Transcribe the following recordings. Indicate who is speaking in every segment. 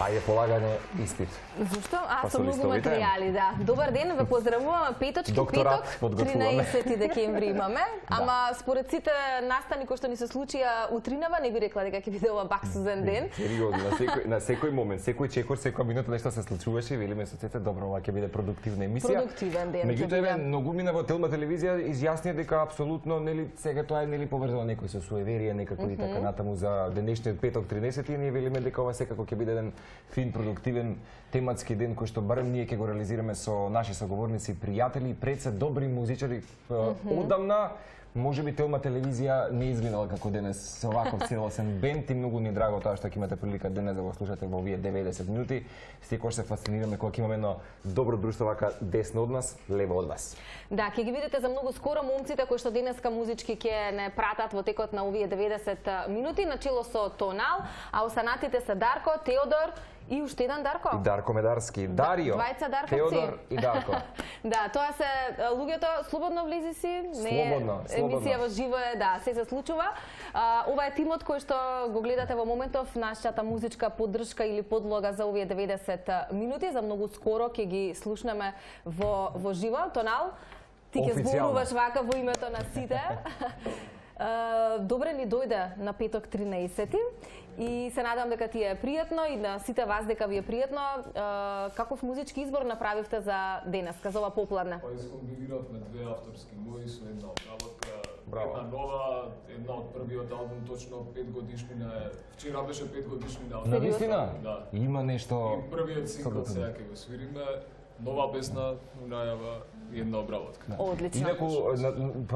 Speaker 1: Ајде полагане испит.
Speaker 2: Зошто? Со многу материјали, да. Добар ден, ве поздравуваме. Петок, 13 декември имаме. Ама според сите настани кои што ни се случија утринава, не би рекла дека ќе биде ова баксузен ден.
Speaker 1: На секој момент, секој чекор, секоја минута нешто се случуваше, велиме со сите, добро, ова ќе биде продуктивна емисија.
Speaker 2: Продуктивен ден.
Speaker 1: Меѓутоа, многу мина во Телма телевизија изјаснија дека апсолутно нели сега тоа е нели поврзано некој со суеверие, некако и така натаму за денешниот петок 13-ти, ние велиме дека ова секако ќе биде еден фин, продуктивен тематски ден кој што барем ние ќе го реализираме со наши соговорници, пријатели, пред се добри музичари одамна. Може би Телма телевизија не изгледала како денес со ваков целосен бенд и многу ни е драго тоа што ќе имате прилика денес да го слушате во овие 90 минути. Секогаш се фасцинираме кога ќе имаме едно добро друштво вака десно од нас, лево од вас.
Speaker 2: Да, ќе ги видите за многу скоро момците кои што денеска музички ќе не пратат во текот на овие 90 минути, начело со Тонал, а останатите се Дарко, Теодор и уште еден Дарко.
Speaker 1: И Дарко Медарски, Дарио, Теодор и Дарко.
Speaker 2: Да, тоа се луѓето, слободно влези си.
Speaker 1: Слободно.
Speaker 2: Емисија во живо е, да, се случува. Ова е тимот кој што го гледате во моментов, нашата музичка поддршка или подлога за овие 90 минути. За многу скоро ќе ги слушнеме во живо. Тонал, ти ќе зборуваш вака во името на сите. Добре ни дојде на петок 13 и се надам дека ти е пријатно и на сите вас дека ви е пријатно. Каков музички избор направивте за денеска, за ова попладне?
Speaker 3: Па искомбиниравме две авторски мои со една обработка, една нова, една од првиот албум, точно 5 годишнина е. Вчера беше 5 годишнина.
Speaker 1: Навистина?
Speaker 3: Да.
Speaker 1: Има нешто.
Speaker 3: И првиот сингл сега ќе го свириме. Нова песна, најава и една обработка.
Speaker 2: Одлично.
Speaker 1: Инаку,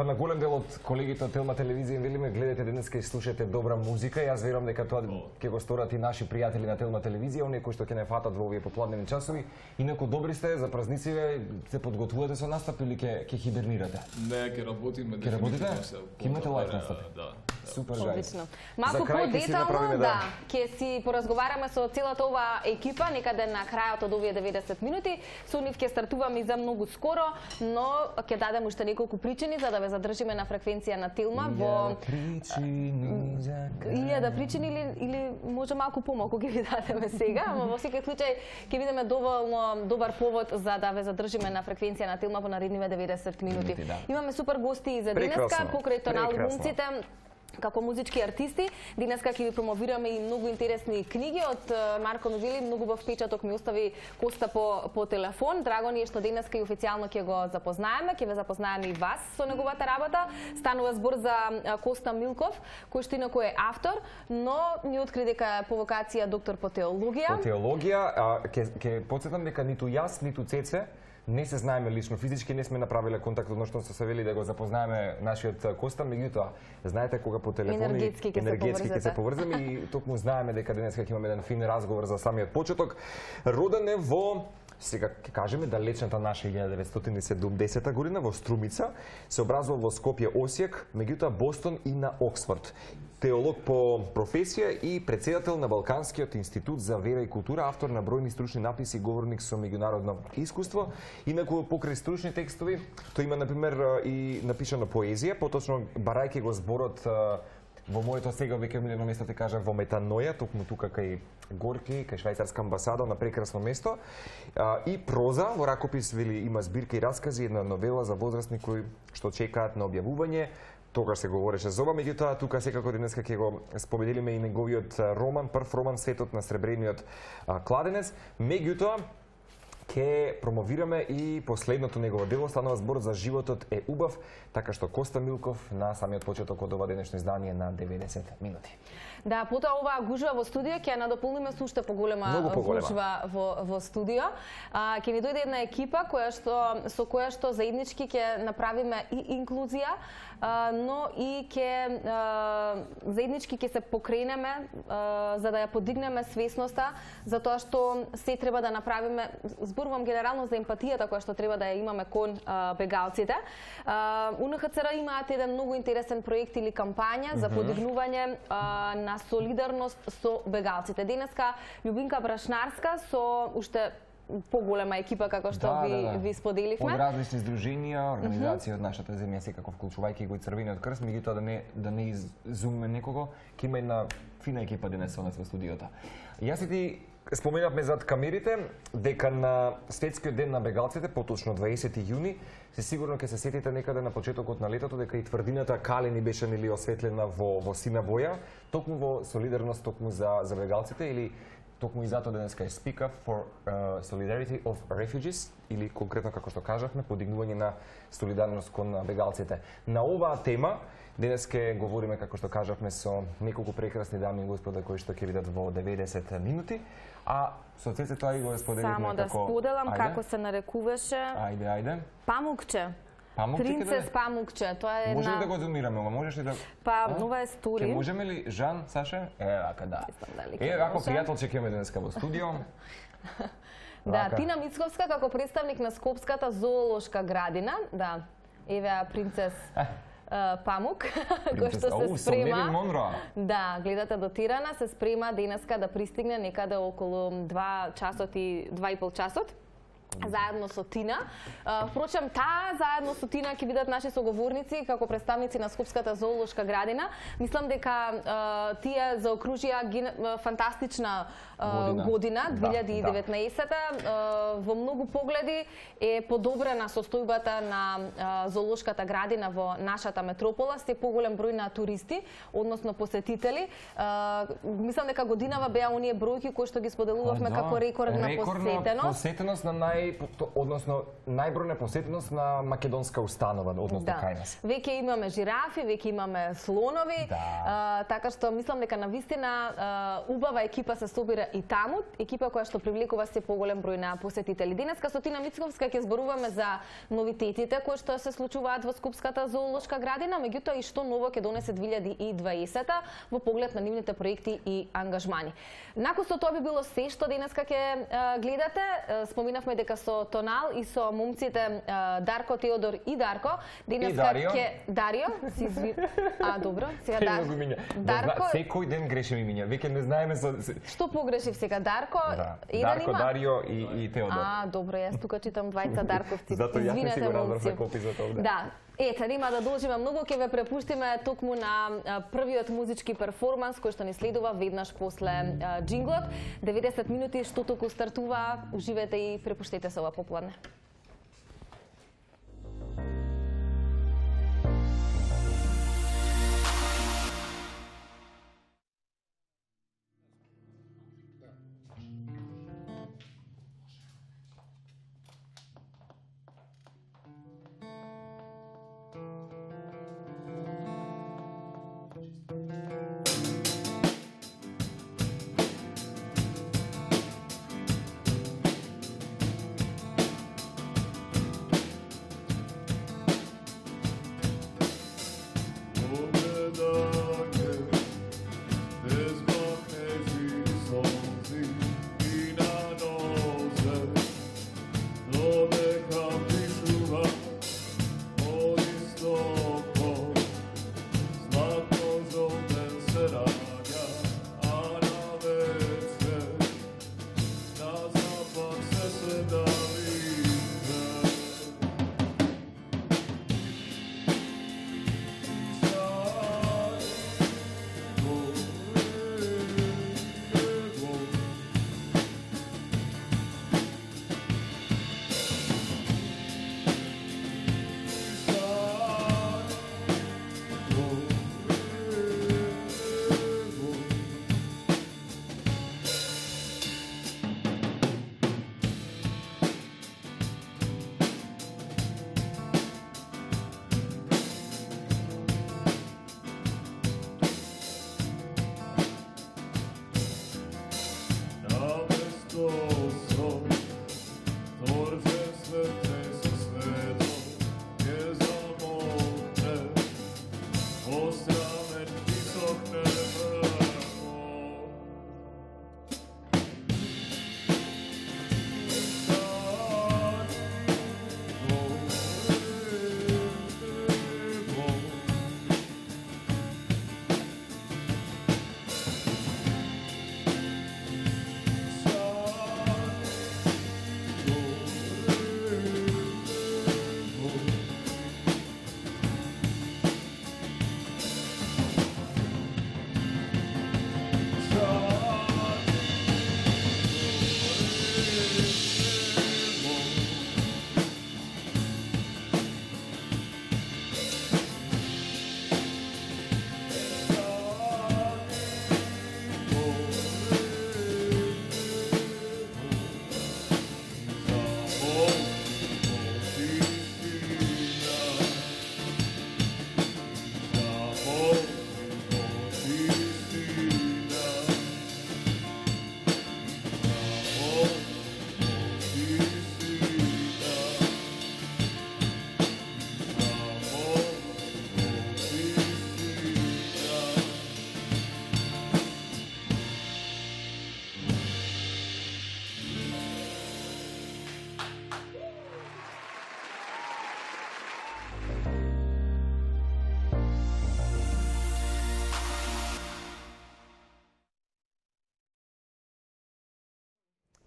Speaker 1: на голем дел од колегите од Телма телевизија велиме гледате денеска и слушате добра музика. Јас верувам дека тоа ќе го сторат и наши пријатели на Телма телевизија, оние кои што ќе не фатат во овие попладнени часови. Инаку добри сте за празниците, се подготвувате со настап или ќе хибернирате?
Speaker 3: Не, ќе работиме.
Speaker 1: Ќе работите? Ќе имате лајф настап?
Speaker 3: Да.
Speaker 1: Супер, гајс.
Speaker 2: Одлично. Малку подетално, да, ќе си поразговараме со целата ова екипа некаде на крајот од овие 90 минути. Со нив ќе стартуваме и за многу скоро, но ќе дадем уште неколку причини за да ве задржиме на фреквенција на Телма во илјада причини или може малку помалку ќе ви дадеме сега, ама во секој случај ќе бидеме доволно добар повод за да ве задржиме на фреквенција на Телма во наредниве 90 минути. Имаме супер гости и за денеска, покрај Тонал глумците, како музички артисти. Денеска ќе ви промовираме и многу интересни книги од Марко Новили. Многу во впечаток ми остави Коста по телефон. Драго ни е што денеска и официјално ќе го запознаеме. Ќе ве запознаеме и вас со неговата работа. Станува збор за Коста Милков, кој што инаку е автор, но ни откри дека е по вокација доктор по теологија.
Speaker 1: По теологија, ќе потсетам дека ниту јас, ниту Цеце не се знаеме лично, физички не сме направиле контакт, односно се вели да го запознаеме нашиот Коста, меѓутоа, знаете кога по телефон
Speaker 2: енергетски ќе
Speaker 1: се поврземе и токму знаеме дека денеска ќе имаме еден фин разговор за самиот почеток. Роден е во, сега ќе кажеме, далечната наша 1970 година во Струмица, се образува во Скопје, Осијак, меѓутоа Бостон и на Оксфорд. Теолог по професија и председател на Балканскиот институт за вера и култура, автор на бројни стручни написи, говорник со меѓународно искуство. Инаку покрај стручни текстови, тој има например и напишано поезија, поточно барајќи го зборот во моето сега веќе милено место те кажа во Метаноја, токму тука кај Горки, кај швајцарска амбасада на прекрасно место. И проза, во ракопис вели има збирка и раскази, една новела за возрастни кои што чекаат на објавување. Тогаш се говореше за ова, меѓутоа тука секако денеска ќе го споменилиме и неговиот роман, прв роман Светот на сребрениот кладенец. Меѓутоа ќе промовираме и последното негово дело, станува збор за Животот е убав, така што Коста Милков на самиот почеток од ова денешно издание на 90 минути.
Speaker 2: Да, потоа оваа гужва во студио ќе ја надополниме со уште поголема гужва во студио. Ќе ни дојде една екипа со која што заеднички ќе направиме и инклузија, но и заеднички ќе се покренеме за да ја подигнеме свесноста за тоа што се треба да направиме. Зборувам генерално за емпатијата која што треба да ја имаме кон бегалците. УНХЦР имаат еден многу интересен проект или кампања за подигнување на солидарност со бегалците. Денеска Љубинка Брашнарска со уште поголема екипа како што ви споделивме.
Speaker 1: Од различни здруженија, организации од нашата земја, секако вклучувајќи го и Црвениот крст, меѓутоа да не изумиме некого, ќе има една фина екипа денес со нас во студиото. Јас и ти споменавме за камерите, дека на Светскиот ден на бегалците, поточно 20 јуни, се сигурно ќе се сетите некаде на почетокот на летото дека и тврдината Калени беше нели осветлена во сина боја, токму во солидарност токму за бегалците или токму и затоа денеска е Speak Up for Solidarity of Refugees или конкретно како што кажавме подигнување на солидарност кон бегалците. На оваа тема денеска говориме како што кажавме со неколку прекрасни дами и господа кои што ќе видат во 90 минути, а со Цеце тоа и го споделивме
Speaker 2: Само да споделам како се нарекуваше.
Speaker 1: Ајде.
Speaker 2: Памукче.
Speaker 1: Памукче
Speaker 2: Принцес Памукче, тоа е
Speaker 1: Може ли
Speaker 2: една...
Speaker 1: да го зумираме, ама можеш ли да...
Speaker 2: Па, ова е стори.
Speaker 1: Ке можеме ли, Жан, Саша? Вака, да.
Speaker 2: Дали
Speaker 1: Вако пријателче ќе имаме денеска во студио.
Speaker 2: Да, Тина Мицковска како представник на Скопската зоолошка градина, да, еве принцес Памук, кој што се спрема. Да, гледате дотирана, се спрема денеска да пристигне некаде околу 2,5 часот. Заедно со Тина. Впрочем, таа заедно со Тина ќе бидат наши соговорници како представници на Скопската зоолошка градина. Мислам дека тие заокружија фантастична година 2019. Во многу погледи е подобрена состојбата на зоолошката градина во нашата метропола, се поголем број на туристи, односно посетители. Мислам дека годинава беа оние бројки кои што ги споделувавме како рекордна
Speaker 1: посетеност на најбројна посетеност на македонска установа, односно кај нас.
Speaker 2: Веќе имаме жирафи, веќе имаме слонови, така што мислам дека навистина убава екипа се собира и таму, екипа која што привлекува се поголем број на посетители. Денеска со Тина Мицковска ќе зборуваме за новитетите кои што се случуваат во Скопската зоолошка градина, меѓутоа и што ново ќе донесе 2020 во поглед на нивните проекти и ангажмани. Након со тоа би било се што денеска ќе гледате. Споминавме дека со Тонал и со момците Дарко, Теодор и Дарко.
Speaker 1: Денеска
Speaker 2: ќе Дарио, си добро, сега
Speaker 1: Дарко. Секој ден грешим имиња. Веќе не знаеме со
Speaker 2: Што погрешив сега? Дарко,
Speaker 1: Дарко, Дарио и Теодор.
Speaker 2: Добро, јас тука читам двајца Дарковци.
Speaker 1: Зато јас не си го разбрав за копи за тоа.
Speaker 2: Да. Ете, нема да должиме многу, ќе ве препуштиме токму на првиот музички перформанс кој што ни следува веднаш после джинглот. 90 минути што току стартува, уживете и препуштете се ова попладне.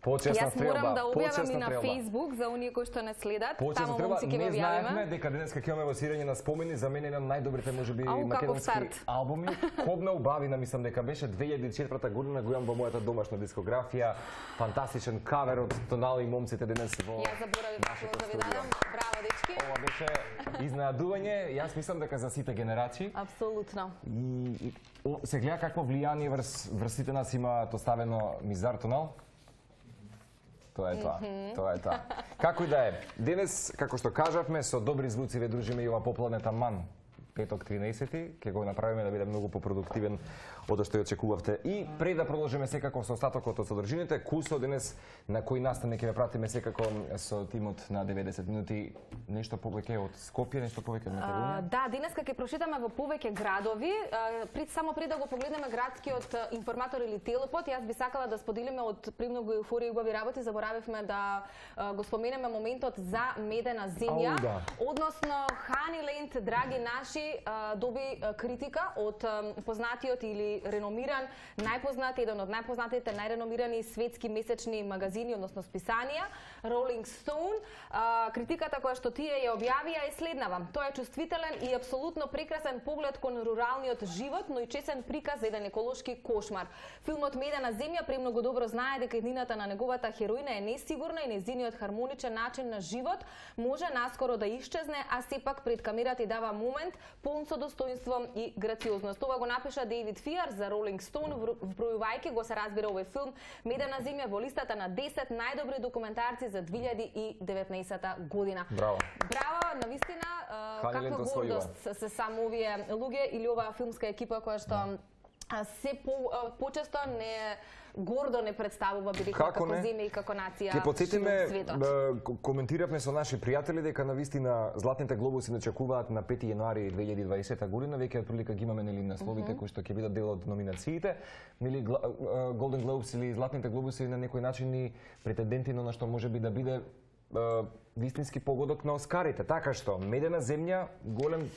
Speaker 1: Почесна стрелба.
Speaker 2: Јас морам да објавам и на
Speaker 1: стрелба.
Speaker 2: Facebook за оние кои што не следат.
Speaker 1: Почесна
Speaker 2: Тамо момци ќе
Speaker 1: не
Speaker 2: го
Speaker 1: знаевме
Speaker 2: објавиме.
Speaker 1: дека денеска ќе имаме во свирење на спомени, за мене еден од најдобрите можеби
Speaker 2: Ау, каков
Speaker 1: македонски
Speaker 2: старт.
Speaker 1: албуми. Кобна убавина, мислам дека беше 2004 година, го имам во мојата домашна дискографија. Фантастичен кавер од Тонали и момците денес во.
Speaker 2: Јас заборавив да ви дадам. Браво, дечки.
Speaker 1: Ова беше изненадување. Јас мислам дека за сите генерации.
Speaker 2: Апсолутно.
Speaker 1: И се гледа какво влијание врз сите нас имаат оставено Мизар Тонал. Тоа е тоа. Тоа е тоа. Како и да е. Денес, како што кажавме, со добри звуци ве дружиме и ова попладне таман. Петок 13, ќе го направиме да биде многу попroduktivен од што ја очекувавте. И пред да продолжиме секако со остатокот од содржините, Кусо денес на кој настан ќе ве пратиме секако со тимот на 90 минути, нешто повеќе од Скопје, нешто повеќе од Македонија.
Speaker 2: Да, денеска ќе прошетаме во повеќе градови. Само пред да го погледнеме градскиот информатор или телопод, јас би сакала да споделиме од премногу еуфорија и убави работи. Заборавивме да го споменеме моментот за медена земја,
Speaker 1: да.
Speaker 2: односно Ханиленд, драги наши, доби критика од познатиот или реномиран, најпознат, еден од најпознатите, најреномирани светски месечни магазини, односно списанија, Rolling Stone. Критиката која што тие ја објавија е следнава. Тоа е чувствителен и апсолутно прекрасен поглед кон руралниот живот, но и чесен приказ за еден еколошки кошмар. Филмот Медена земја премногу добро знае дека иднината на неговата хероина е несигурна и незиниот хармоничен начин на живот може наскоро да исчезне, а сепак пред камерата и дава момент полн со достоинство и грациозност. Ова го напиша Дейвид Фиар за Rolling Stone, вбројувајќи го се разбира овој филм Медена земја во листата на 10 најдобри документарци за 2019 година.
Speaker 1: Браво.
Speaker 2: Браво, навистина, каква гордост се само овие луѓе или оваа филмска екипа која што се почесто не гордо не представува бидејќи како земја и како нација.
Speaker 1: Ке потсетиме, коментиравме со наши пријатели дека навистина златните глобуси не чекуваат на 5 јануари 2020 година, веќе отприлика ги имаме нели насловите кои што ќе бидат дел од номинациите, нели Golden Globes или златните глобуси на некој начин и претенденти на што може би да биде вистински погодок на Оскарите, така што Медена земја голем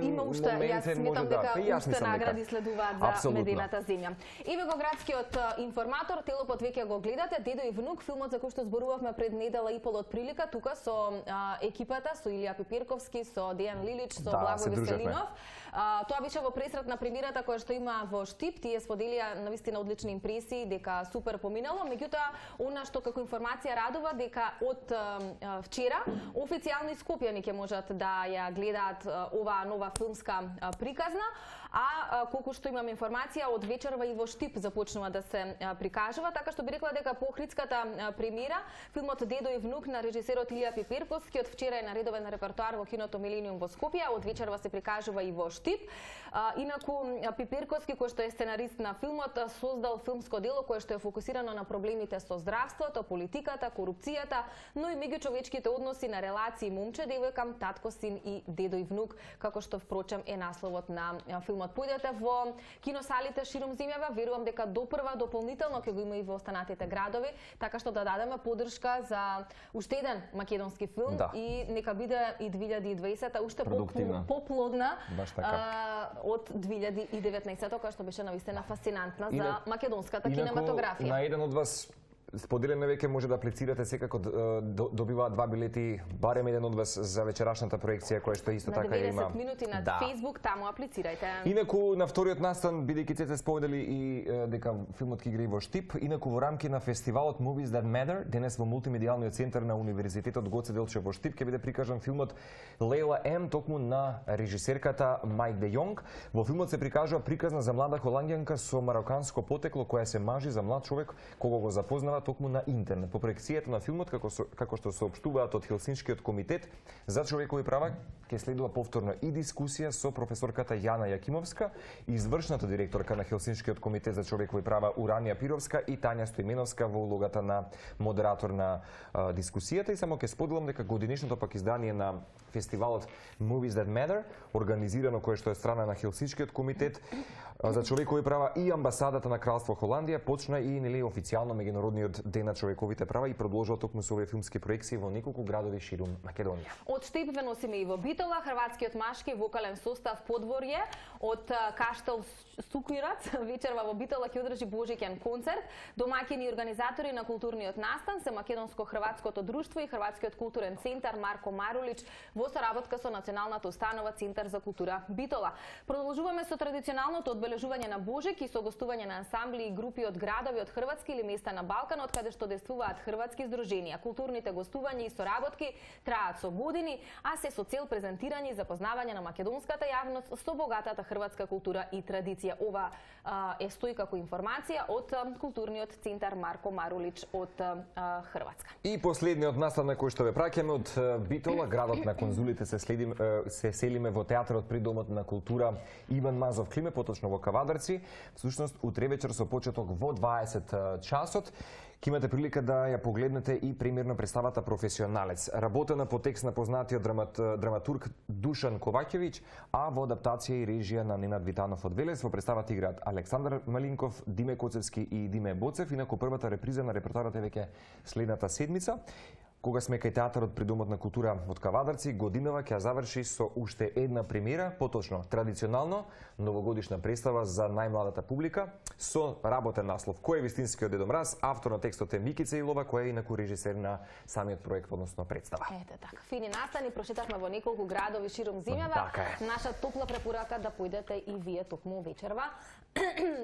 Speaker 2: има уште, јас сметам дека уште награди следуваат за Медената земја. Еве го градскиот информатор, телопод веќе го гледате, Дедо и внук, филмот за кој што зборувавме пред недела и пол од прилика, тука со екипата, со Илија Пиперковски, со Дејан Лилич, со Благо Веселинов. Тоа беше во пресрет на премиерата која што има во Штип, тие споделија навистина одлични импресии дека супер поминало, меѓутоа она што како информација радува дека од вчера официјално и скопјани ќе можат да ја гледаат оваа нова филмска приказна, а колку што имам информација од вечерва и во Штип започнува да се прикажува, така што би рекла дека по охридската премиера филмот Дедо и внук на режисерот Илија Пиперковски од вчера е на редовен репертоар во киното Милениум во Скопје, од вечерва се прикажува и во Штип. Инаку Пиперковски, кој што е сценарист на филмот, создал филмско дело кое што е фокусирано на проблемите со здравството, политиката, корупцијата, но и меѓучовечките односи на релации момче, девојка, татко, син и дедо и внук, како што впрочем е насловот на филмот. Појдете во киносалите широм земјава, верувам дека допрва дополнително ќе го има и во останатите градови, така што да дадеме поддршка за уште еден македонски филм и нека биде и 2020 уште поплодна од 2019, која што беше навистина фасцинантна за македонската кинематографија.
Speaker 1: На еден од вас споделено веќе може да аплицирате, секако добиваат 2 билети, барем еден од вас за вечерашната проекција која што исто така има.
Speaker 2: На 90 минути на Facebook, таму аплицирајте.
Speaker 1: Инаку на вториот настан, бидејќи Цеце спомнели и дека филмот ќе игра и во Штип, инаку во рамки на фестивалот Movies That Matter, денес во мултимедијалниот центар на Универзитетот Гоце Делчев во Штип ќе биде прикажан филмот Лейла М, токму на режисерката Мајк Де Јонг. Во филмот се прикажува приказна за млада холандјанка со мароканско потекло која се мажи за млад човек кога го запознава токму на интернет. По проекцијата на филмот, како што соопштуваат од Хелсиншкиот комитет за човекови права, ќе следува повторно и дискусија со професорката Јана Јакимовска, извршната директорка на Хелсиншкиот комитет за човекови права Уранија Пировска и Тања Стоименовска во улогата на модератор на дискусијата. И само ќе споделам дека годинишното пак издание на фестивалот Movies That Matter, организирано кое што е страна на Хелсиншкиот комитет за човекови права и амбасадата на Кралство Холандија, почна и нели официјално меѓународниот меѓународниот ден на човековите права и продолжува токму со овие филмски проекции во неколку градови ширум Македонија.
Speaker 2: Од Штип ве носиме и во Битола, хрватскиот машки вокален состав Подворје, од Каштел Сукујрац, вечерва во Битола ќе одржи божиќен концерт. Домаќини и организатори на културниот настан се Македонско-хрватското друштво и Хрватскиот културен центар Марко Марулич во соработка со Националната установа Центар за култура Битола. Продолжуваме со традиционалното одбележување на Божик и со гостување на ансамбли и групи од градови од Хрватски или места на Балканот каде што действуваат хрватски здруженија. Културните гостувања и соработки траат со години, а се со цел презентирање и запознавање на македонската јавност со богатата хрватска култура и традиција. Ова е стои како информација од културниот центар Марко Марулич од Хрватска.
Speaker 1: И последниот настан на кој што ве праќаме од Битола, градот на конзулите, се селиме во театарот при Домот на култура Иван Мазов Климе, поточно во Кавадарци. Всушност утре вечер со почеток во 20 часот ќе имате прилика да ја погледнете и премиерно представата Професионалец, работена по текст на познатиот драматург Душан Коваќевиќ, а во адаптација и режија на Ненад Витанов од Велес. Во представата играат Александар Малинков, Диме Коцевски и Диме Боцев. Инаку првата реприза на репертоарот е веќе следната седмица. Кога сме кај театарот при Домот на култура од Кавадарци, годинава ќе заврши со уште една премиера, поточно традиционално новогодишна представа за најмладата публика со работен наслов Кој е вистинскиот Дедо Мраз, автор на текстот е Микица Илова, која е инаку режисер на самиот проект, односно представа.
Speaker 2: Ете така, фини настани, прошетавме во неколку градови широм земјава. Наша топла препорака да појдете и вие токму вечерва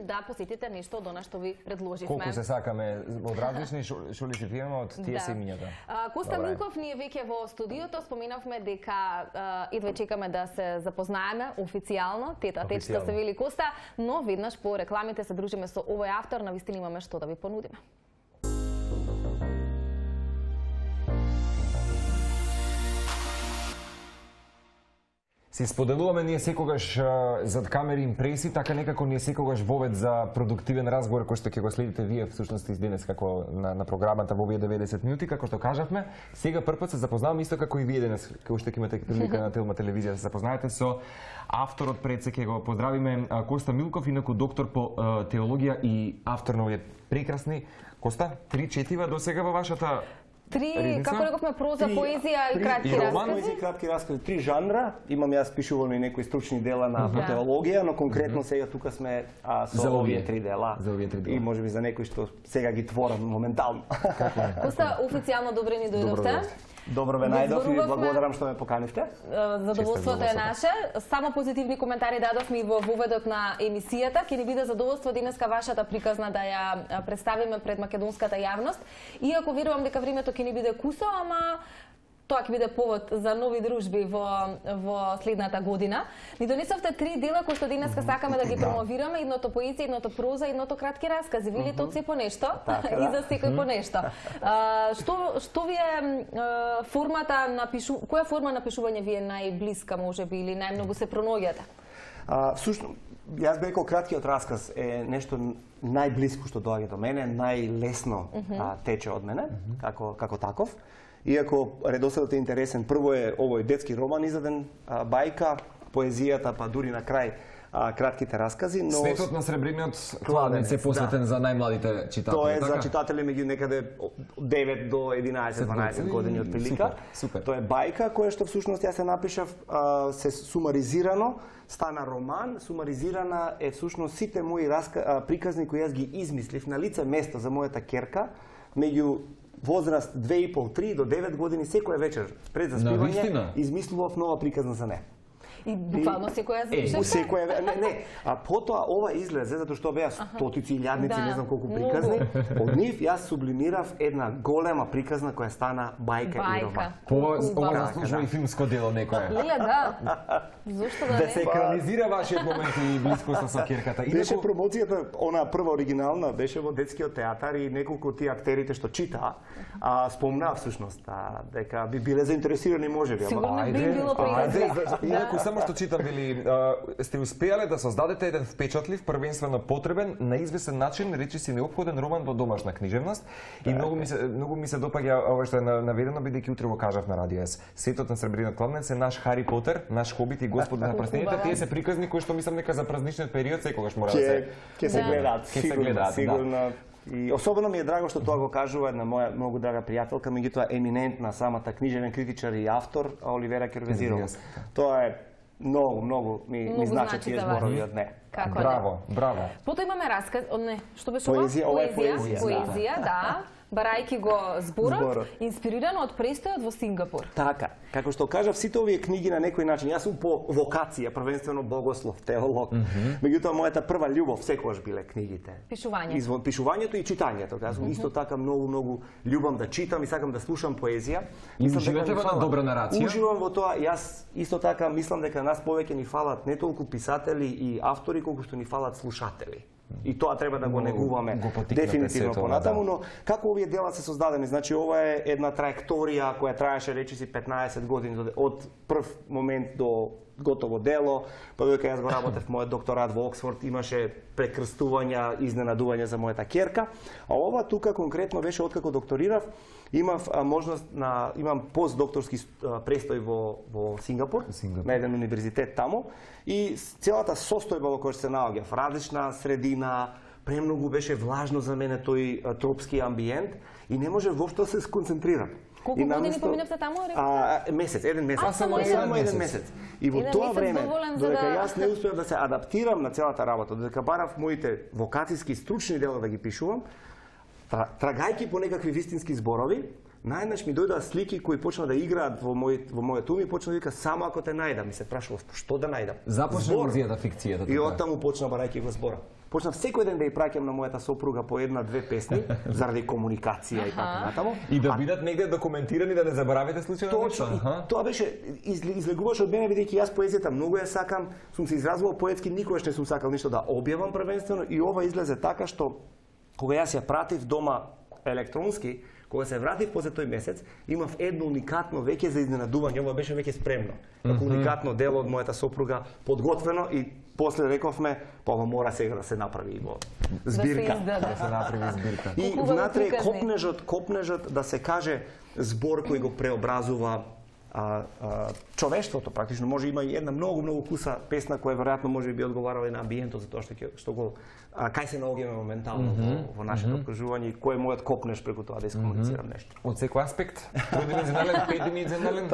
Speaker 2: да посетите нешто од она што ви предложивме.
Speaker 1: Колку се сакаме од различни што ли си пиеме од тие семињата.
Speaker 2: Коста Милков, ние веќе во студиото споменавме дека едва чекаме да се запознаеме официјално, тет што се вели Коста, но веднаш по рекламите се дружиме со овој автор, навистина имаме што да ви понудиме.
Speaker 1: Си споделуваме ние секогаш зад камери импреси, така некако ние секогаш вовед за продуктивен разговор кој што ќе го следите вие всушност и денес како на програмата во овие 90 минути, како што кажавме. Сега првпат се запознаваме исто како и вие денес, кога што ќе имате прилика на Телма телевизија да се запознаете со авторот, пред се ќе го поздравиме Коста Милков, инаку доктор по теологија и автор на овие прекрасни Коста 3 четива досега во вашата
Speaker 2: како рековме, проза, поезија и кратки
Speaker 4: роман,
Speaker 2: раскази.
Speaker 4: поезија и кратки раскази, 3 жанра. Имам јас пишувано и некои стручни дела на теологија, но конкретно сега тука сме со овие 3 дела. И можеби за некои што сега ги творам моментално.
Speaker 2: Коста, официјално добре ни дојдовте.
Speaker 4: Добро ве најдов и благодарам што ме поканивте.
Speaker 2: Задоволството е наше. Само позитивни коментари дадовме и во воведот на емисијата. Ќе ни биде задоволство денеска вашата приказна да ја представиме пред македонската јавност. Иако верувам дека времето ќе ни биде кусо, ама тоа ќе биде повод за нови дружби во следната година. Ни донесовте 3 дела кои што денеска сакаме да ги промовираме, едното поезија, едното проза, едното кратки раскази. Велите од се по нешто и за секој по нешто. Што ви е формата на која форма на пишување ви е најблиска можеби или најмногу се пронаоѓате?
Speaker 4: Всушност, јас би рекол краткиот расказ е нешто најблиско што доаѓа до мене, најлесно тече од мене, како таков. Иако редоследот е интересен, прво е овој детски роман издаден, бајка, поезијата, па дури на крај кратките раскази, но
Speaker 1: Светот на сребрениот кладенец е посветен за најмладите читатели.
Speaker 4: Тоа е за читатели меѓу некаде 9 до 11-12 години од прилика. Тоа е бајка која што всушност јас се напишав се сумаризирано, стана роман, сумаризирана е всушност сите мои приказни кои јас ги измислив на лице место за мојата ќерка меѓу возраст 2,5-3 до 9 години, секоја вечер пред заспивање измислував нова приказна за неа.
Speaker 2: И буквално секоја запишавте?
Speaker 4: Не. А потоа ова излезе затоа што беа стотици, илјадници, не знам колку приказни. Од нив јас сублимирав една голема приказна која стана бајка и роман.
Speaker 1: Ова заслужува и филмско дело некое.
Speaker 2: Леле, да. Зошто да не?
Speaker 1: Да се екранизира вашиот момент и блискоста со ќерката.
Speaker 4: Беше промоцијата, она прва оригинална, беше во детскиот театар и неколку од тие актерите што читаа, спомнаа всушност дека би биле заинтересирани можеби.
Speaker 2: Сигурно би било
Speaker 1: прекрасно. Само што читам, вели, сте успеале да создадете еден впечатлив, првенствено потребен, на известен начин, речиси неопходен роман во домашна книжевност. И многу ми се допаѓа ова што е наведено, бидејќи утре го кажав на радио С. Светот на сребрениот кладенец е наш Хари Потер, наш Хобит и Господи на прстените. Тие се приказни кои што мислам дека за празничниот период секогаш мора да се
Speaker 4: ќе се гледаат. Сигурно. И особено ми е драго што тоа го кажува една моја многу драга пријателка, меѓутоа еминентна самата книжевен критичар и автор Оливера Кервезирова. Тоа е многу ми значи тие зборови од неа.
Speaker 1: Браво, браво.
Speaker 2: Потоа имаме расказ, што беше ова?
Speaker 4: Поезија, ова е
Speaker 2: Поезија, да. Барајки го зборот, инспирирано од престојот во Сингапур.
Speaker 4: Така, како што кажав, сите овие книги на некој начин, јас сум по вокација, првенствено богослов, теолог, меѓутоа мојата прва љубов секогаш биле книгите.
Speaker 2: Пишување.
Speaker 4: Пишувањето и читањето. Јас сум исто така многу љубам да читам и сакам да слушам поезија.
Speaker 1: И уживате во добра нарација?
Speaker 4: Уживам во тоа. Јас исто така мислам дека нас повеќе ни фалат не толку писатели и автори, колку што ни фалат слушатели. И тоа треба да го негуваме дефинитивно понатаму, но како овие дела се создадени? Значи ова е една траекторија која траеше речиси 15 години од прв момент до готово дело, па додека јас го работев мојот докторат во Оксфорд, имаше прекрстувања, изненадувања за мојата ќерка, а ова тука конкретно беше откако докторирав, имав можност имам постдокторски престој во Сингапур, на еден универзитет таму, и целата состојба во која се наоѓав, различна средина, премногу беше влажно за мене тој тропски амбиент и не може воопшто да се сконцентрирам.
Speaker 2: Колку години поминавте таму?
Speaker 4: Месец, еден месец. Само еден месец. И во тоа време, додека јас не успеав да се адаптирам на целата работа, додека барав моите вокацијски стручни дела да ги пишувам, трагајќи по некакви вистински зборови, најнаш ми дојдоа слики кои почна да играат во мојот ум и почна да вика само ако те најдам. Ми се прашував што да најдам.
Speaker 1: Започна музијата фикцијата.
Speaker 4: И оттаму почна барајќи го збора. Почнав секој ден да ја праќам на мојата сопруга по една-две песни заради комуникација и така натаму.
Speaker 1: И да бидат негде документирани да не заборавите случајно.
Speaker 4: Точно. Тоа беше излегуваше од мене бидејќи јас поезијата многу ја сакам, сум се изразувал поетски, никогаш не сум сакал ништо да објавам првенствено и ова излезе така што кога јас ја пратив дома електронски, кога се вратив после тој месец, имав едно уникатно веќе за изненадување, ова беше веќе спремно. Како уникатно дело од мојата сопруга, подготвено и после рековме, па ова мора сега да се направи во збирка.
Speaker 1: Да се направи збирка.
Speaker 4: И внатре копнежот да се каже збор кој го преобразува човештвото практично. Може има и една многу куса песна која веројатно може би одговарала и на амбиентот за тоа што го кај се наоѓаме моментално во нашето окружување и кој е мојот копнеж преку тоа да искомуницирам нешто.
Speaker 1: Од секој аспект, тројдимenzионален, петдимenzионален.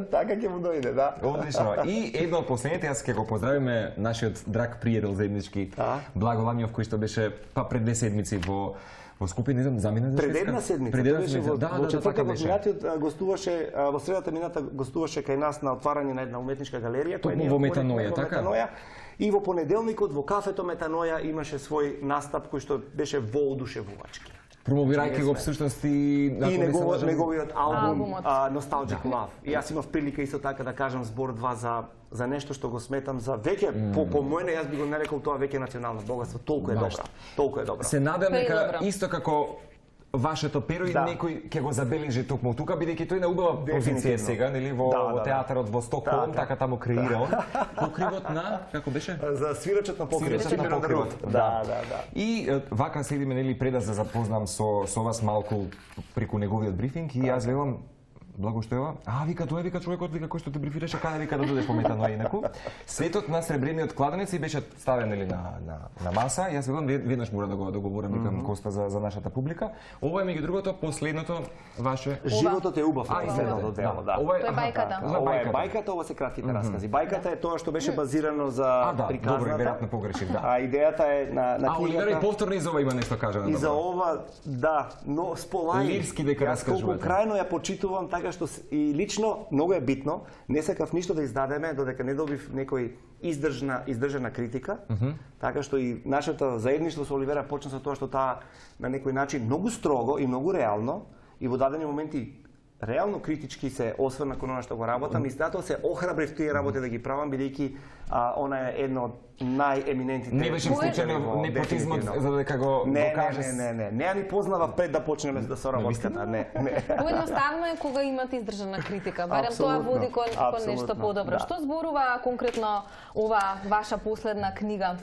Speaker 4: Така ќе му дојде, да.
Speaker 1: Одлично. И едно од последните, јас ќе го поздравиме нашиот драг пријател заеднички Благо Ламјов, кој што беше пред 2 седмици во Скопје, не знам, замина за
Speaker 4: Пред една седмица. Во четвртокот минатиот гостуваше, во средата мината гостуваше кај нас на отварање на една уметничка галерија,
Speaker 1: која е во Метаноја, така?
Speaker 4: И во понеделникот во кафето Метаноја имаше свој настап кој што беше воодушевувачки.
Speaker 1: Промовирајќи го всушност и
Speaker 4: неговиот албум Nostalgic Love. И јас имав прилика исто така да кажам збор 2 за нешто што го сметам за веќе по мојне, јас би го нарекол тоа веќе национално богатство, толку е добра.
Speaker 1: Се надам дека исто како вашето перо и некој ќе го забележи токму тука, бидејќи тој на убава позиција сега, нели, во театарот во Стокхолм, така таму креира он. Покривот на, како беше?
Speaker 4: За свирачот на покривот. Да.
Speaker 1: И вака следиме, нели, пред да се запознам со вас малку преку неговиот брифинг и јас велам Благо што ева, вика човекот кој што те брифираше, каде вика да додеш по Метаноја инаку. Светот на сребрениот кладенец и беше ставен нели на маса. Јас велам веднаш мора да го договорам викам Коста за нашата публика. Ова е меѓу другото последното ваше
Speaker 4: Животот е убав, последното дело, да.
Speaker 2: Ова е бајката.
Speaker 4: Ова е бајката, ова се кратките раскази. Бајката е тоа што беше базирано за приказната.
Speaker 1: Добро, веројатно погрешив, да.
Speaker 4: А идејата е на книгата.
Speaker 1: Оливер и повторно и за ова има нешто кажано.
Speaker 4: И за ова, да, но сполај.
Speaker 1: Лирски дека раскажувате.
Speaker 4: Колку крајно ја почитувам, така што и лично многу е битно, не сакав ништо да издадеме додека не добив некој издржана критика, така што и нашето заедништво со Оливера почна со тоа што таа на некој начин многу строго и многу реално и во дадени моменти реално критички се осврна кон она што го работам и затоа се охрабрив тие работи да ги правам бидејќи она е едно од најеминентните.
Speaker 1: Не беше случајно непотизмот за дека го докаже.
Speaker 4: Не ни познава пред да почнеме да соработката, не.
Speaker 2: Поедноставно е кога имате издржана критика, барем тоа води кон нешто подобро. Што зборува конкретно ова ваша последна книга?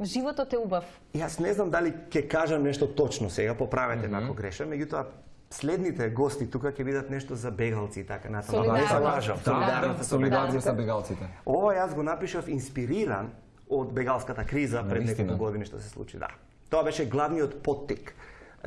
Speaker 2: Животот е убав.
Speaker 4: Јас не знам дали ќе кажам нешто точно сега, поправете ме ако грешам, меѓутоа следните гости тука ќе видат нешто за бегалци и така натаму.
Speaker 1: Солидарност со бегалците.
Speaker 4: Ова јас го напишав инспириран од бегалската криза пред неколку години што се случи, да. Тоа беше главниот поттик.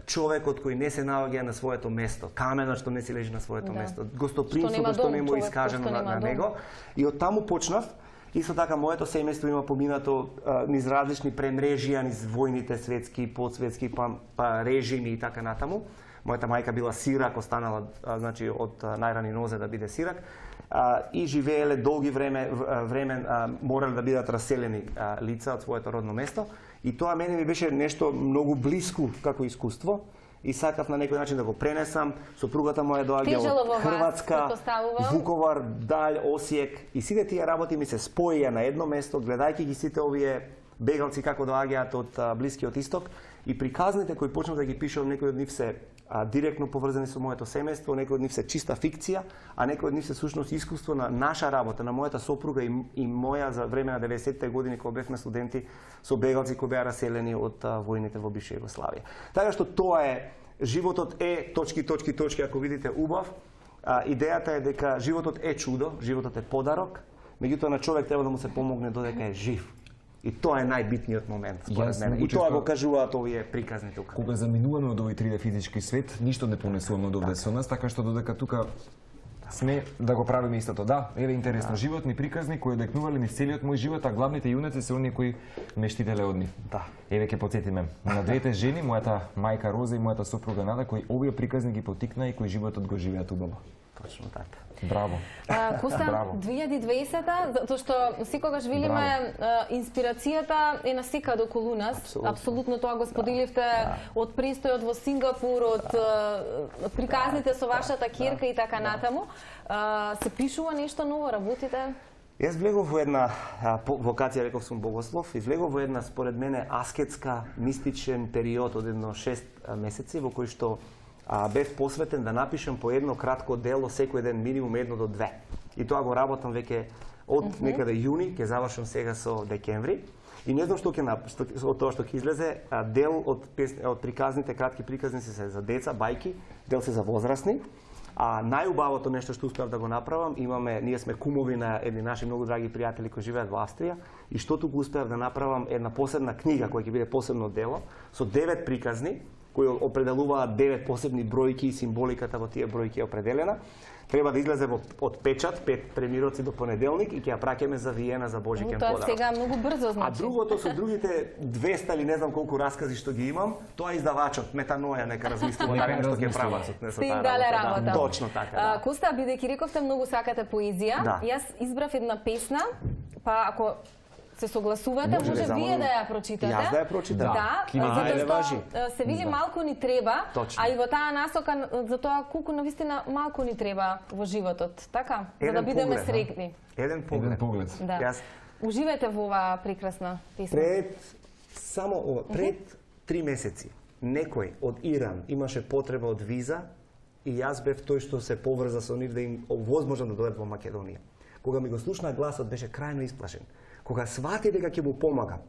Speaker 4: Човекот кој не се наоѓа на своето место, каменот што не си лежи на своето место, гостопримството што не му е искажено на него. И од таму почнав. Исто така, моето семејство има поминато низ различни премрежија, низ војните светски, подсветски, па режими и така натаму. Мојата мајка била сирак, останала значи од најрани нозе да биде сирак. И живееле долги време морале да бидат раселени лица од своето родно место. И тоа мене ми беше нешто многу блиску како искуство. И сакав на некој начин да го пренесам. Сопругата моја доаѓа од Хрватска, Вуковар, Далј, Осијек. И сите тие работи ми се споија на едно место, гледајќи ги сите овие бегалци како доаѓаат од Блискиот Исток. И приказните кои почнав да ги пишувам, некои од нив се директно поврзани со моето семејство, некои од нив се чиста фикција, а некои од нив се сушност искуство на наша работа, на мојата сопруга и моја за време на 90-те години кога бевме студенти со бегалци кои беа раселени од војните во бивша Југославија. Така што тоа е, животот е точки, ако видите убав. Идејата е дека животот е чудо, животот е подарок, меѓутоа на човек треба да му се помогне додека е жив. И тоа е најбитниот момент, според мене. И тоа го кажуваат овие приказни тука.
Speaker 1: Кога заминуваме од овој 3D физички свет, ништо не понесуваме од овде со нас, така што додека тука сме да го правиме истото. Да, еве интересно, животни приказни кои одекнувале низ целиот мој живот, а главните јунаци се оние кои ме штителе од нив.
Speaker 4: Да.
Speaker 1: Еве ќе потсетиме на двете жени, мојата мајка Роза и мојата сопруга Нада, кои овие приказни ги поттикнаа и кои животот го живеат убаво.
Speaker 4: Точно така.
Speaker 1: Браво.
Speaker 2: Коста, 2020-та, затоа што секогаш велиме инспирацијата е насекаде околу нас. Апсолутно тоа го споделивте од престојот во Сингапур, од приказните со вашата ќерка и така натаму. Се пишува нешто ново, работите?
Speaker 4: Јас влегов во една вокација, реков сум богослов, и влегов во една според мене аскетска, мистичен период од едно 6 месеци во кој што бев посветен да напишам по едно кратко дело секој ден, минимум 1 до 2. И тоа го работам веќе од некаде јуни, ќе завршам сега со декември. И не знам што ќе од тоа што ќе излезе, дел од приказните, кратки приказни се за деца, бајки, дел се за возрастни. А најубавото нешто што успеав да го направам, ние сме кумови на едни наши многу драги пријатели кои живеат во Австрија, и што туку успеав да направам една посебна книга која ќе биде посебно дело со 9 приказни кои определуваат 9 посебни бројки и символиката во тие бројки е определена. Треба да излезе од печат 5 премироци до понеделник и ќе ја праќаме за Виена за Божикен подарок.
Speaker 2: Тоа сега многу брзо значи.
Speaker 4: А другото со другите 200 или не знам колку раскази што ги имам, тоа издавачот Метаноја нека размислува дали нешто ќе прават со
Speaker 2: таа работа.
Speaker 4: Точно така.
Speaker 2: Коста, бидејќи рековте многу сакате поезија, јас избрав една песна, па ако се согласувате, може вие да ја прочитате.
Speaker 4: Јас да ја прочитам.
Speaker 2: Да, затоа што се вели малку ни треба, а и во таа насока за тоа колку навистина малку ни треба во животот, така? За да бидеме среќни.
Speaker 4: Еден поглед.
Speaker 2: Да. Уживајте во оваа прекрасна песна.
Speaker 4: Пред 3 месеци некој од Иран имаше потреба од виза и јас бев тој што се поврза со нив да им овозможам да дојдат во Македонија. Кога ми го слушна гласот беше крајно исплашен. Кога свати дека ќе му помагам,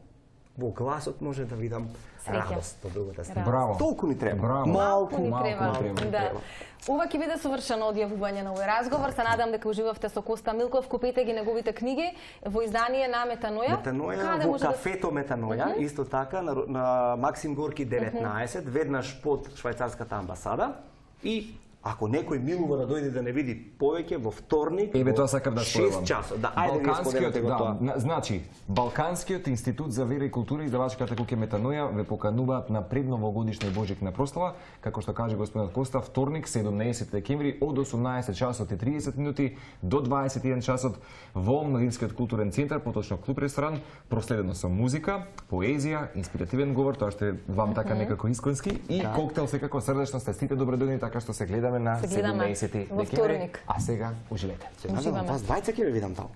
Speaker 4: во гласот може да видам радост од другата страна.
Speaker 1: Браво.
Speaker 4: Толку ни треба.
Speaker 1: Браво.
Speaker 2: Малку ни треба. Ова ќе биде совршено одјавување на овој разговор. Се надам дека уживавте со Коста Милков. Купете ги неговите книги во издание на Метаноја.
Speaker 4: Метаноја во кафето Метаноја, исто така на Максим Горки 19, веднаш под швајцарската амбасада. И ако некој милува да дојде да не види повеќе во вторник,
Speaker 1: еве тоа сакам да споделам.
Speaker 4: 6 часот. Да, ајде ви споделете го тоа.
Speaker 1: Значи, Балканскиот институт за вера и култура и издавачката куќа Метаноја ве покануваат на предновогодишна и божикна прослава, како што каже господинот Коста, вторник 17 декември од 18 часот и 30 минути до 21 часот во Младинскиот културен центар, поточно клуб ресторан, проследено со музика, поезија, инспиративен говор, тоа што е вам така некако исконски, и коктел секако срдечно сте сите добродојдени, така што се гледаме на 17 декември. А сега уживете.
Speaker 4: Вас двајца ќе ве видам таму.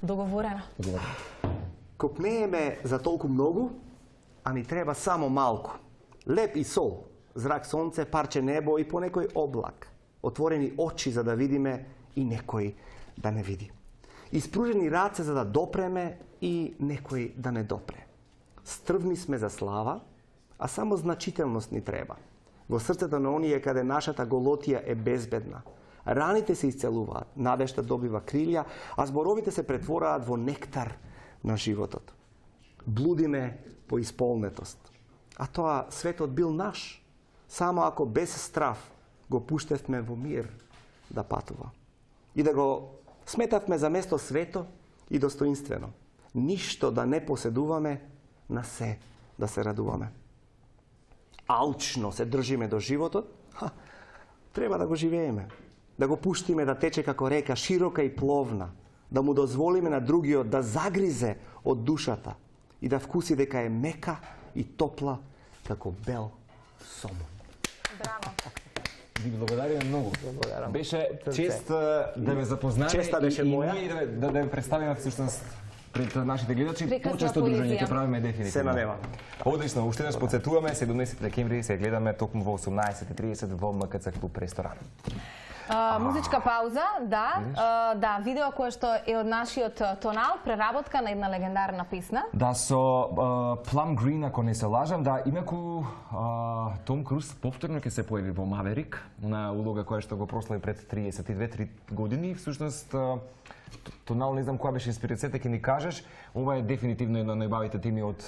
Speaker 2: Договорено.
Speaker 4: Копнееме за толку многу, а ни треба само малку. Леп и сол, зрак сонце, парче небо и по некој облак. Отворени очи за да видиме и некој да не види. Испружени раце за да допреме и некој да не допре. Стрвни сме за слава, а само значителност ни треба. Во срцето на оние каде нашата голотија е безбедна. Раните се исцелуваат, надежта добива крилја, а зборовите се претвораат во нектар на животот. Блудиме по исполнетост. а тоа светот бил наш, само ако без страв го пуштевме во мир да патува. И да го сметавме за место свето и достоинствено. Ништо да не поседуваме, на се да се радуваме. Алчно се држиме до животот, треба да го живееме. Да го пуштиме да тече како река, широка и пловна. Да му дозволиме на другиот да загризе од душата и да вкуси дека е мека и топла како бел сомон.
Speaker 2: Браво.
Speaker 1: Ви благодариме многу. Беше чест да ве запознаме.
Speaker 4: Честа беше моја.
Speaker 1: И ние да ве представиме всушност пред нашите гледачи. Почесто дружење ќе правиме дефинитивно.
Speaker 4: Се надевам.
Speaker 1: Одлично, уште еднаш потсетуваме 17 декември се гледаме токму во 18:30 во МКЦ клуб ресторан.
Speaker 2: Музичка пауза, да, видео кое што е од нашиот тонал, преработка на една легендарна песна.
Speaker 1: Да, со Plum Green, ако не се лажам, да, имаку Том Круз повторно ќе се појави во Маверик, на улога која што го прослави пред 32-3 години. Всушност, тонал, не знам која беше инспирацијата, ќе ни кажеш. Ова е дефинитивно една од најбавите теми од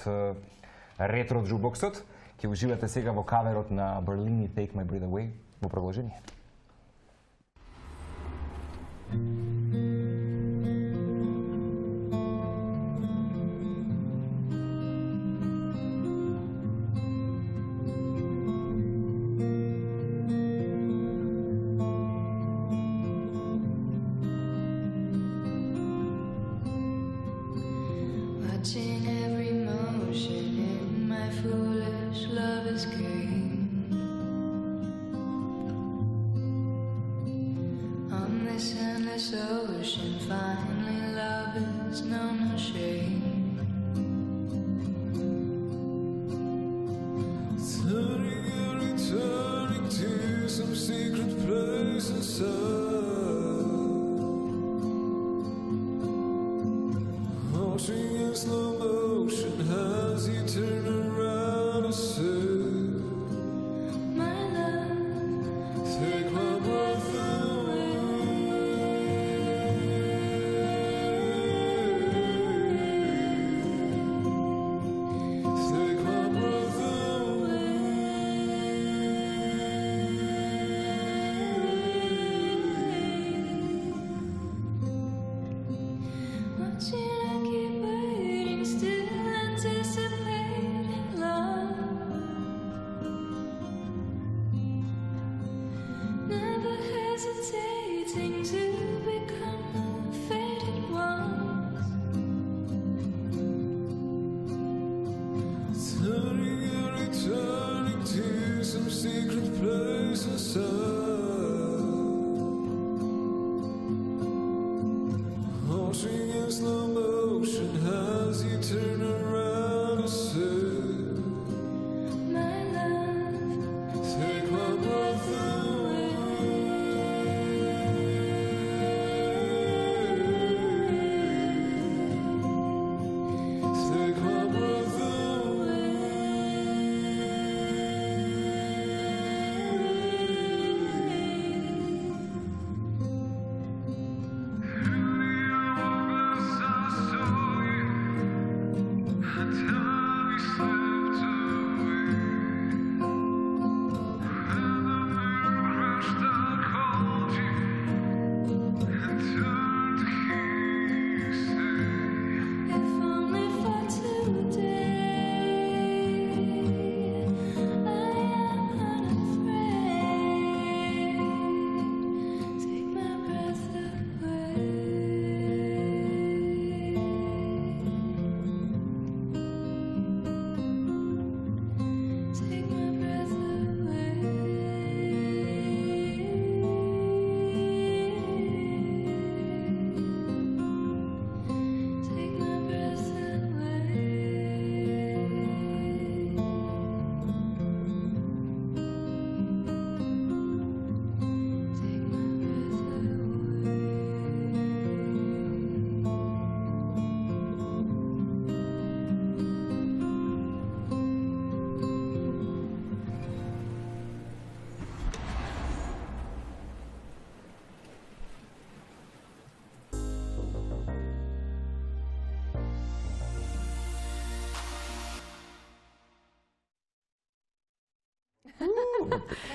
Speaker 1: ретро джукбоксот. Ќе уживате сега во каверот на Berlin и Take My Breath Away во продолжение.
Speaker 5: Watching every motion in my foolish lover's game. On this endless ocean, finally love is no more shame.
Speaker 3: Turning and returning to some secret place inside. Watching in slow motion as you turn around and say,
Speaker 5: My love,
Speaker 3: take my breath away. Take my breath
Speaker 5: watching I keep waiting, still anticipating love. Never hesitating to become the faded ones.
Speaker 3: Turning and returning to some secret place inside. Watching in slow motion as you turn around and say,
Speaker 5: My love,
Speaker 3: take my breath away. Take my breath away.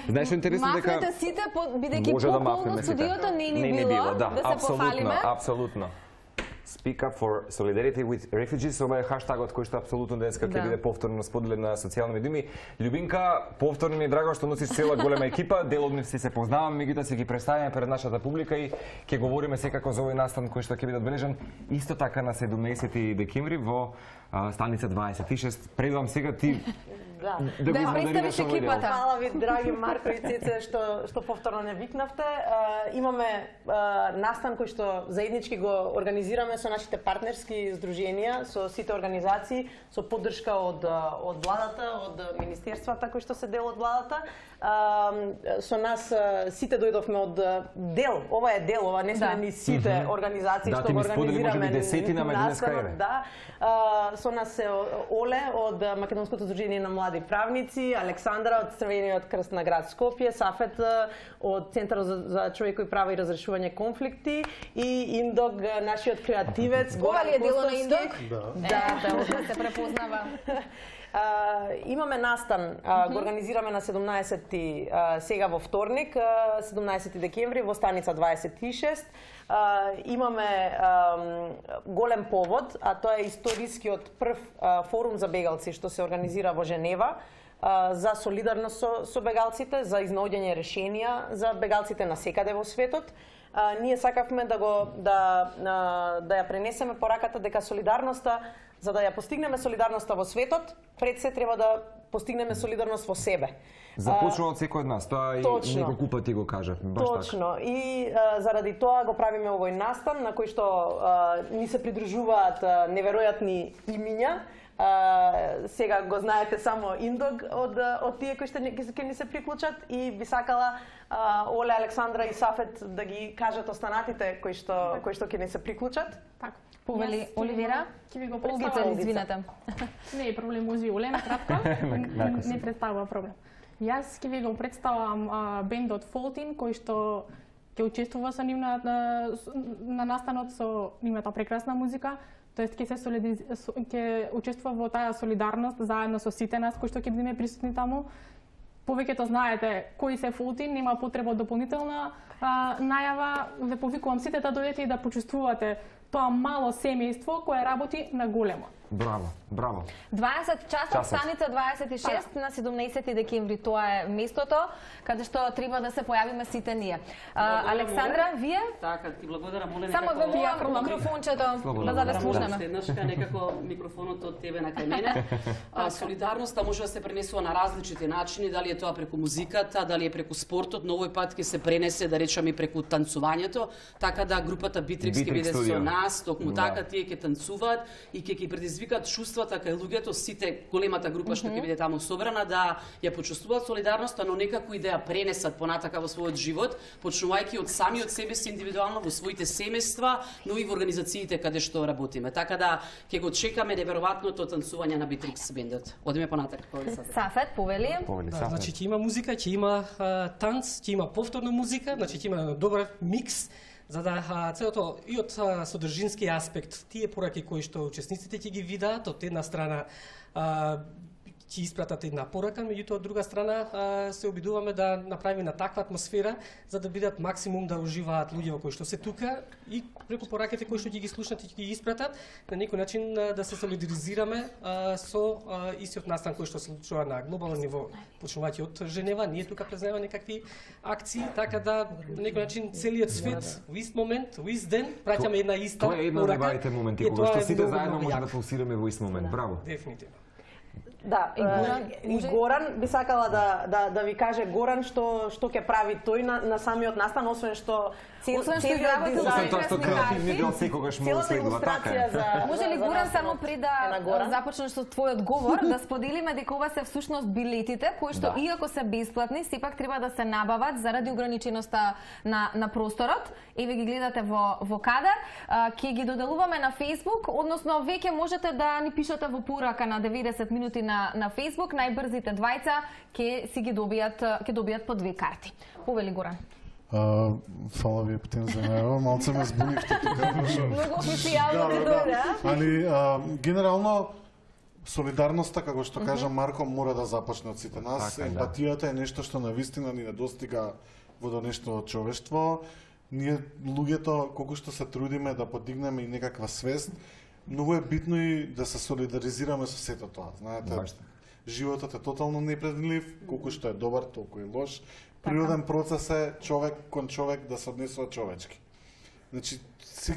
Speaker 1: Знаеш што е интересно дека
Speaker 2: Махнете сите, бидејќи
Speaker 1: може да
Speaker 2: пополно
Speaker 1: махнеме сите.
Speaker 2: студиото не ни било, да се пофалиме.
Speaker 1: Апсолутно. Speak up for solidarity with refugees, ова е хаштагот кој што апсолутно денеска ќе биде повторно споделен на социјални медии. Љубинка, повторно ми е драго што носиш цела голема екипа, дел од нив се познаваме, меѓутоа се ги представиме пред нашата публика и ќе говориме секако за овој настан кој што ќе биде одбележан исто така на 17 декември во станица 26. Предувам сега ти
Speaker 6: Да
Speaker 2: ја представиш екипата.
Speaker 6: Фала ви, драги Марко и Цеце, што повторно не викнавте. Имаме настан кој што заеднички го организираме со нашите партнерски здруженија, со сите организации, со поддршка од владата, од министерствата кои што се дел од владата. Со нас сите дојдовме од дел, ова е дел, ова не сме ни сите организации што го организираме настанот. Да, со нас се Оле од Македонското здружение на млади правници, Александра од Црвениот крст на град Скопје, Сафет од Центарот за човекови права и разрешување конфликти и Индог, нашиот креативец.
Speaker 2: Ова ли е дело на Индог?
Speaker 6: Да,
Speaker 2: се препознава.
Speaker 6: Имаме настан, го организираме на 17-ти сега во вторник, 17 декември во станица 26. Имаме голем повод, а тоа е историскиот прв форум за бегалци што се организира во Женева за солидарност со бегалците, за изнаоѓање решенија за бегалците насекаде во светот. Ние сакавме да ја пренесеме пораката дека солидарноста, за да ја постигнеме солидарноста во светот, пред се треба да постигнеме солидарност во себе.
Speaker 1: Започнува од секој од нас, тоа и неколку пати го кажа.
Speaker 6: Точно. И заради тоа го правиме овој настан на кој што ни се придружуваат неверојатни имиња. Сега го знаете само Индог од тие кои што ќе ни се приклучат и би сакала Оле, Александра и Сафет да ги кажат останатите кои што ќе ни се приклучат.
Speaker 7: Така.
Speaker 2: Повели Оливера,
Speaker 7: ќе ви го
Speaker 2: Олгица,
Speaker 7: представам.
Speaker 2: извинете.
Speaker 7: Не е проблем, може Оле на кратко. Не представува проблем. Јас ќе ви го представам бендот Фолтин, кој што ќе учествува со нивна на настанот со нивната прекрасна музика. Тоест ќе учествува во таа солидарност заедно со сите нас кои што ќе бидеме присутни таму. Повеќето знаете кои се Фолтин, нема потреба од дополнителна најава. Ве повикувам сите да дојдете и да почувствувате тоа мало семејство кое работи на големо.
Speaker 1: Браво, браво.
Speaker 2: 20 часот, станица 26 на 17 декември, тоа е местото каде што треба да се појавиме сите ние. Александра, вие?
Speaker 8: Така, ти благодарам, моле
Speaker 2: Само во микрофончето, да ве слушнеме.
Speaker 8: Следнашка некако микрофонот од тебе на кај мене. Солидарноста може да се пренесува на различити начини, дали е тоа преку музиката, дали е преку спортот, но овој пат ќе се пренесе, да речеме, преку танцувањето, така да групата Битрикс ќе биде со нас, токму така тие ќе танцуваат и ќе ги предизвикаат чувствата кај луѓето, сите големата група што ќе биде таму собрана, да ја почувствуваат солидарноста, но некако и да ја пренесат понатака во својот живот, почнувајќи од самиот себе си индивидуално во своите семејства, но и во организациите каде што работиме. Така да ќе го чекаме неверојатното танцување на Битрикс бендот. Одиме понатака.
Speaker 2: Сафет, повели.
Speaker 9: Значи ќе има музика, ќе има танц, ќе има повторна музика, значи ќе има добар микс, за да целото и од содржински аспект, тие пораки кои што учесниците ќе ги видат, од една страна ќе испратат една порака, меѓутоа од друга страна се обидуваме да направиме на таква атмосфера за да бидат максимум да уживаат луѓе кои што се тука и преку пораките кои што ќе ги слушнат и ќе ги испратат, на некој начин да се солидаризираме со истиот настан кој што се случува на глобално ниво, почнувајќи од Женева, ние тука преземаме некакви акции, така да на некој начин целиот свет во ист момент, во ист ден праќаме една иста порака.
Speaker 1: Тоа е една од најважните моменти кога што сите заедно може да пулсираме во ист момент. Браво.
Speaker 9: Дефинитивно.
Speaker 6: Да, и Горан би сакала да ви каже Горан што ќе прави тој на самиот настан, освен што
Speaker 2: изработил
Speaker 1: креативни дел секогаш му следува, така е.
Speaker 2: Може ли Горан само пред да започнеш со твојот говор да споделиме дека ова се всушност билетите кои што иако се бесплатни, сепак треба да се набават заради ограниченоста на просторот. Еве ги гледате во кадар. Ќе ги доделуваме на Facebook, односно веќе можете да ни пишете во порака на 90 минути на Facebook, најбрзите двајца ќе си ги добијат по 2 карти. Повели Горан.
Speaker 10: Фала ви Епитин за најава, малце ме збунивте тука.
Speaker 2: Многу официјално ти дојде,
Speaker 10: Али, генерално, солидарноста, како што кажа Марко, мора да започне од сите нас.
Speaker 1: Така,
Speaker 10: емпатијата е нешто што навистина ни недостига во до нешто човештво. Ние луѓето колку што се трудиме да подигнеме и некаква свест, многу е битно и да се солидаризираме со сето тоа. Знаете, животот е тотално непредвидлив, колку што е добар, толку и лош. Природен процес е човек кон човек да се однесува човечки. Значи,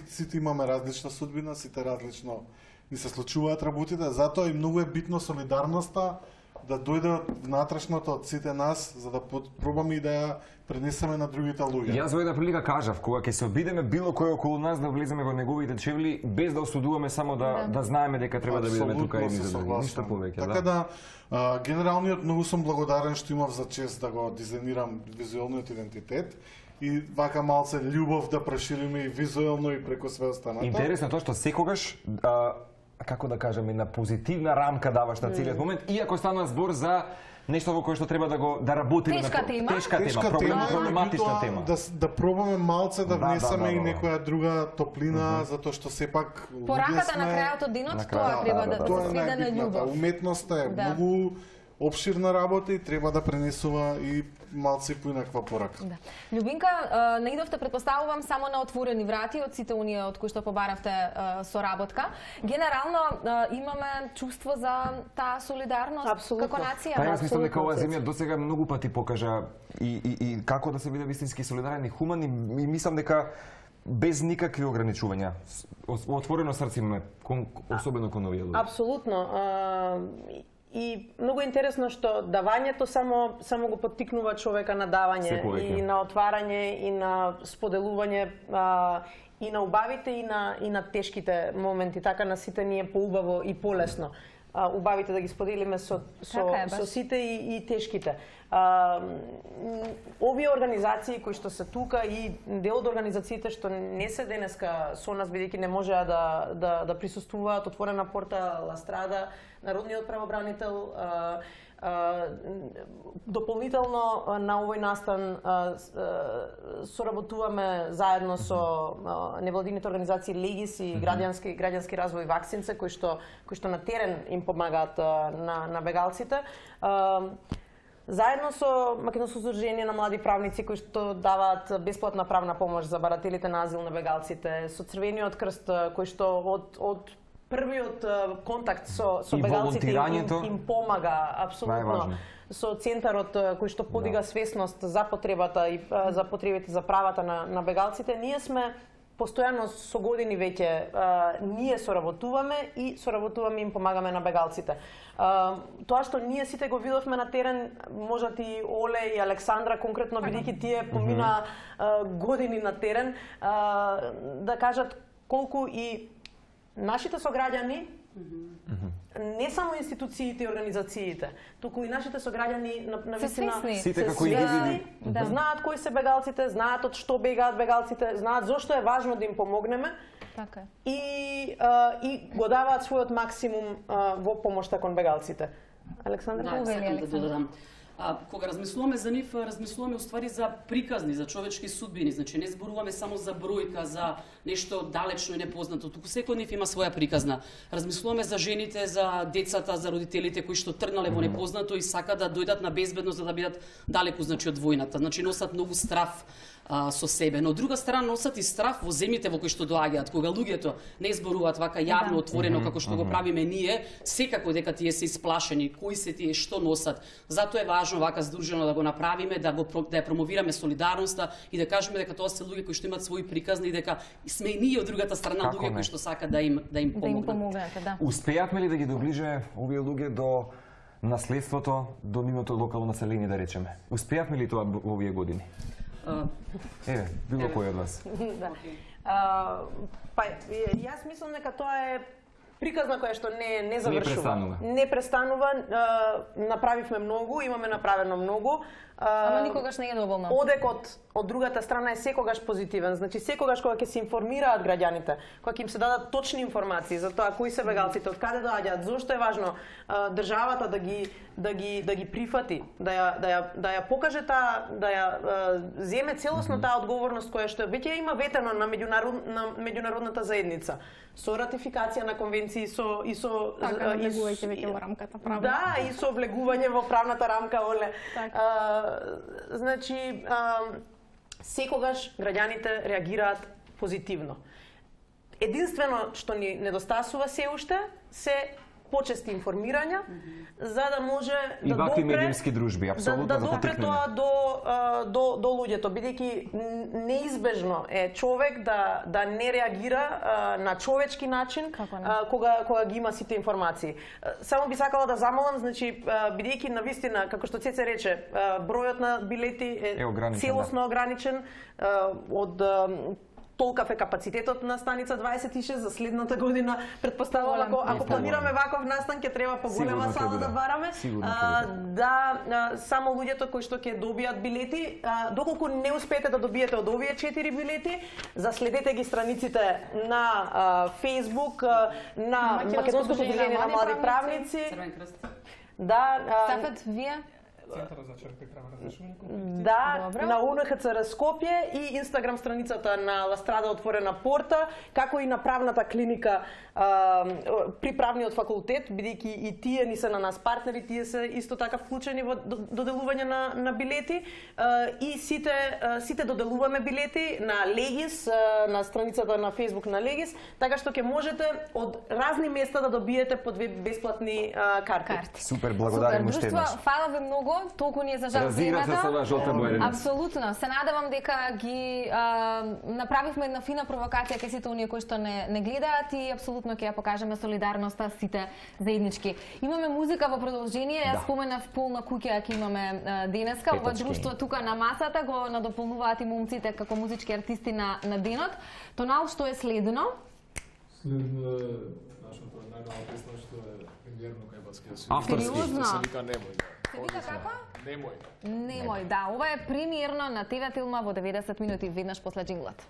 Speaker 10: сите имаме различна судбина, сите различно ни се случуваат работите, затоа и многу е битно солидарноста да дојде од внатрешното од сите нас, за да пробаме и да ја пренесеме на другите луѓе.
Speaker 1: Јас во една прилика кажав, кога ќе се обидеме било кој околу нас да влеземе во неговите чевли, без да осудуваме, само да знаеме дека треба да бидеме тука и за други. Ништо повеќе,
Speaker 10: така да, генералниот многу сум благодарен што имав за чест да го дизајнирам визуелниот идентитет и вака малце љубов да прошириме и визуелно и преку све останато.
Speaker 1: Интересно тоа што секогаш како да кажеме, на позитивна рамка даваш на целиот момент, иако станува збор за нешто во кое што треба да работиме.
Speaker 2: Тешка
Speaker 1: тема, проблематична тема.
Speaker 10: Да пробаме малце да внесеме и некоја друга топлина, затоа што сепак
Speaker 2: пораката на крајот од денот тоа треба да се сведе на љубов.
Speaker 10: Уметноста е многу обширна работа и треба да пренесува и малце поинаква порака.
Speaker 2: Да. Љубинка, наидовте, предпоставувам, само на отворени врати од сите оние од кои што побаравте соработка. Генерално имаме чувство за таа солидарност како нација.
Speaker 1: Па јас мислам дека оваа земја досега многу пати покажа и како да се биде вистински солидарен и хумен, и мислам дека без никакви ограничувања. Отворено срце имаме, особено кон овие луѓе.
Speaker 6: Апсолутно. И многу интересно што давањето само го поттикнува човека на давање и на отварање и на споделување и на убавите и на тешките моменти, така на сите ни е поубаво и полесно. Убавите да ги споделиме со сите и тешките. Овие организации кои што се тука и дел од организациите што не се денеска со нас, бидејќи не можеа да присуствуваат, Отворена порта, Ла Страда, Народниот правобранител, дополнително на овој настан соработуваме заедно со невладините организации Легис и граѓански развој Ваксинце, кои што на терен им помагаат на бегалците. Заедно со Македонско здружение на млади правници кои што даваат бесплатна правна помош за барателите на азил на бегалците, со Црвениот крст кој што од првиот контакт со бегалците им помага апсолутно, со центарот кој што подига свесност за потребата и за потребите за правата на бегалците. Ние сме постојано со години веќе ние соработуваме и соработуваме и им помагаме на бегалците. Тоа што ние сите го видовме на терен, можат и Оле и Александра конкретно, бидејќи тие помина години на терен, да кажат колку и нашите сограѓани, не само институциите и организациите, туку и нашите сограѓани навистина се свесни, знаат кои се бегалците, знаат од што бегаат бегалците, знаат зошто е важно да им помогнеме и го даваат својот максимум во помошта кон бегалците. Александра,
Speaker 8: сакам да додадам. Кога размислуваме за нив, размислуваме уствари за приказни, за човечки судбини. Значи не зборуваме само за бројка, за нешто далечно и непознато. Туку секој од нив има своја приказна. Размислуваме за жените, за децата, за родителите кои што тргнале во непознато и сака да дојдат на безбедност за да бидат далеку, значи, од војната. Значи носат многу страф со себе. Но од друга страна носат и страф во земјите во кои што доаѓаат. Кога луѓето не зборуваат вака јавно, отворено како што го правиме ние, секако дека тие се исплашени, кои се тие, што носат. Затоа е важно вака здружено да го направиме, да ја промовираме солидарноста и да кажеме дека тоа се луѓе кои што имаат своји приказни и дека сме и ние од другата страна луѓе кои што сакаат да им помогнат.
Speaker 1: Успеавме ли да ги доближе овие луѓе до наследството, до нивното локално население, да речеме? Успеавме ли тоа во овие години? Било кој од вас?
Speaker 6: Па, јас мислам дека тоа е приказна која што не завршува. Не престанува. Направивме многу, имаме направено многу.
Speaker 2: Ама никогаш не е доволно.
Speaker 6: Одекот од другата страна е секогаш позитивен. Значи секогаш кога ќе се информираат граѓаните, кога ќе им се дадат точни информации за тоа кои се бегалците, од каде доаѓаат, зошто е важно државата да ги прифати, да ја покаже таа, да ја земе целосно таа одговорност која што веќе има ветено на меѓународната заедница со ратификација на конвенција конвенции и со
Speaker 7: Така, влегувајќи веќе во рамката правна.
Speaker 6: Да, и со влегување во правната рамка, оле. Значи, секогаш граѓаните реагираат позитивно. Единствено што ни недостасува се уште се почести информирања, за да може
Speaker 1: и вакви медиумски дружби, апсолутно
Speaker 6: да допре тоа до луѓето, бидејќи неизбежно е човек да не реагира на човечки начин кога ги има сите информации. Само би сакала да замолам, значи бидејќи навистина, како што Цеце рече, бројот на билети е целосно ограничен од толкав е капацитетот на станица 26 за следната година. Предпоставувам, ако планираме ваков настан, ќе треба поголема сала да бараме. Да, само луѓето кои што ќе добијат билети, доколку не успеете да добиете од овие 4 билети, заследете ги страниците на Facebook, на Македонското сдружение на млади правници. Да,
Speaker 2: Сафет, вие?
Speaker 9: Центарот за черпи права разрешување.
Speaker 6: Да, на УНХЦР Скопје и Инстаграм страницата на Ластрада отворена порта, како и на правната клиника при правниот факултет, бидејќи и тие ни се на нас партнери, тие се исто така вклучени во доделување на билети и сите доделуваме билети на Легис, на страницата на Facebook на Легис, така што ќе можете од разни места да добиете по 2 бесплатни карти.
Speaker 1: Супер, благодарам уште еднаш.
Speaker 2: Фала ви многу, толку ни е за жал
Speaker 1: времето. Разигра се со жолта боја.
Speaker 2: Апсолутно. Се надевам дека ги направивме една фина провокација кај сите оние кои што не гледаат и апсолутно ќе ја покажеме солидарноста сите заеднички. Имаме музика во продолжение, јас споменав полна куќа ќе имаме денеска. Ова друштво тука на масата го надополнуваат и момците како музички артисти на денот. Тонал, што е следно?
Speaker 3: Следно е нашата најнова песна што е премиерно кај Баскија Свит.
Speaker 2: Авторски.
Speaker 3: Се вика Немој.
Speaker 2: Се вика како?
Speaker 3: Немој.
Speaker 2: Немој, да. Ова е премиерно на ТВ Тилма во 90 минути, веднаш после джинглот.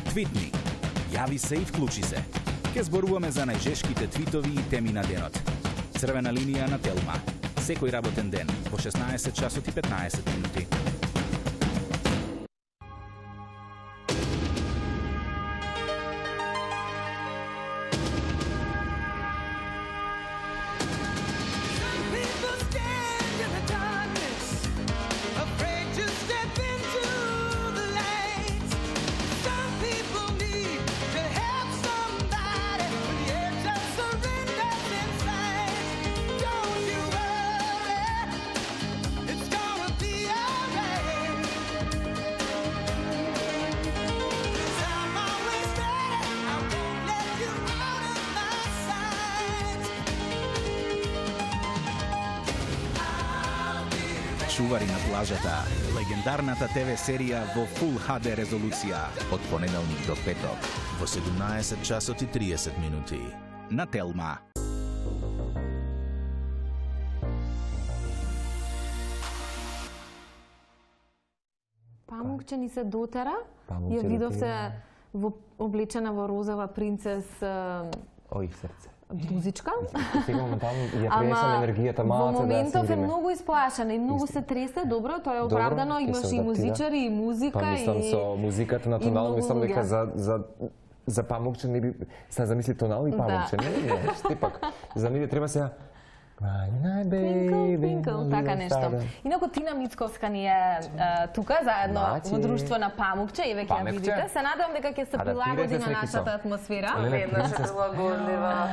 Speaker 11: Твитни. Јави се и вклучи се. Ке зборуваме за најжешките твитови и теми на денот. Црвена линија на Телма. Секој работен ден во 16 часот и 15 минути. Чувари на плажата, легендарната ТВ серија во Full HD резолуција од понеделник до петок во 17 часот и 30 минути на Телма.
Speaker 2: Памукче ни се дотера, ја видовте облечена во розова принцес
Speaker 1: Ој, срце.
Speaker 2: Друзичка.
Speaker 1: Сега моментално ја пренесам енергијата малата
Speaker 2: во
Speaker 1: да
Speaker 2: моментов е многу исплашена и многу се тресе, добро, тоа е оправдано, имаше и музичари и музика
Speaker 1: и мислам со музиката на тонал, мислам дека за Памукче не би се замисли тонал и Памукче, не, штепак. За ниве треба сега
Speaker 2: Twinkle, така нешто. Инаку Тина Мицковска ни е тука, заедно во друштво на Памукче, и веќе ја видите. Се надевам дека ќе се прилагоди на нашата атмосфера.
Speaker 12: Веднаш е прилагодлива.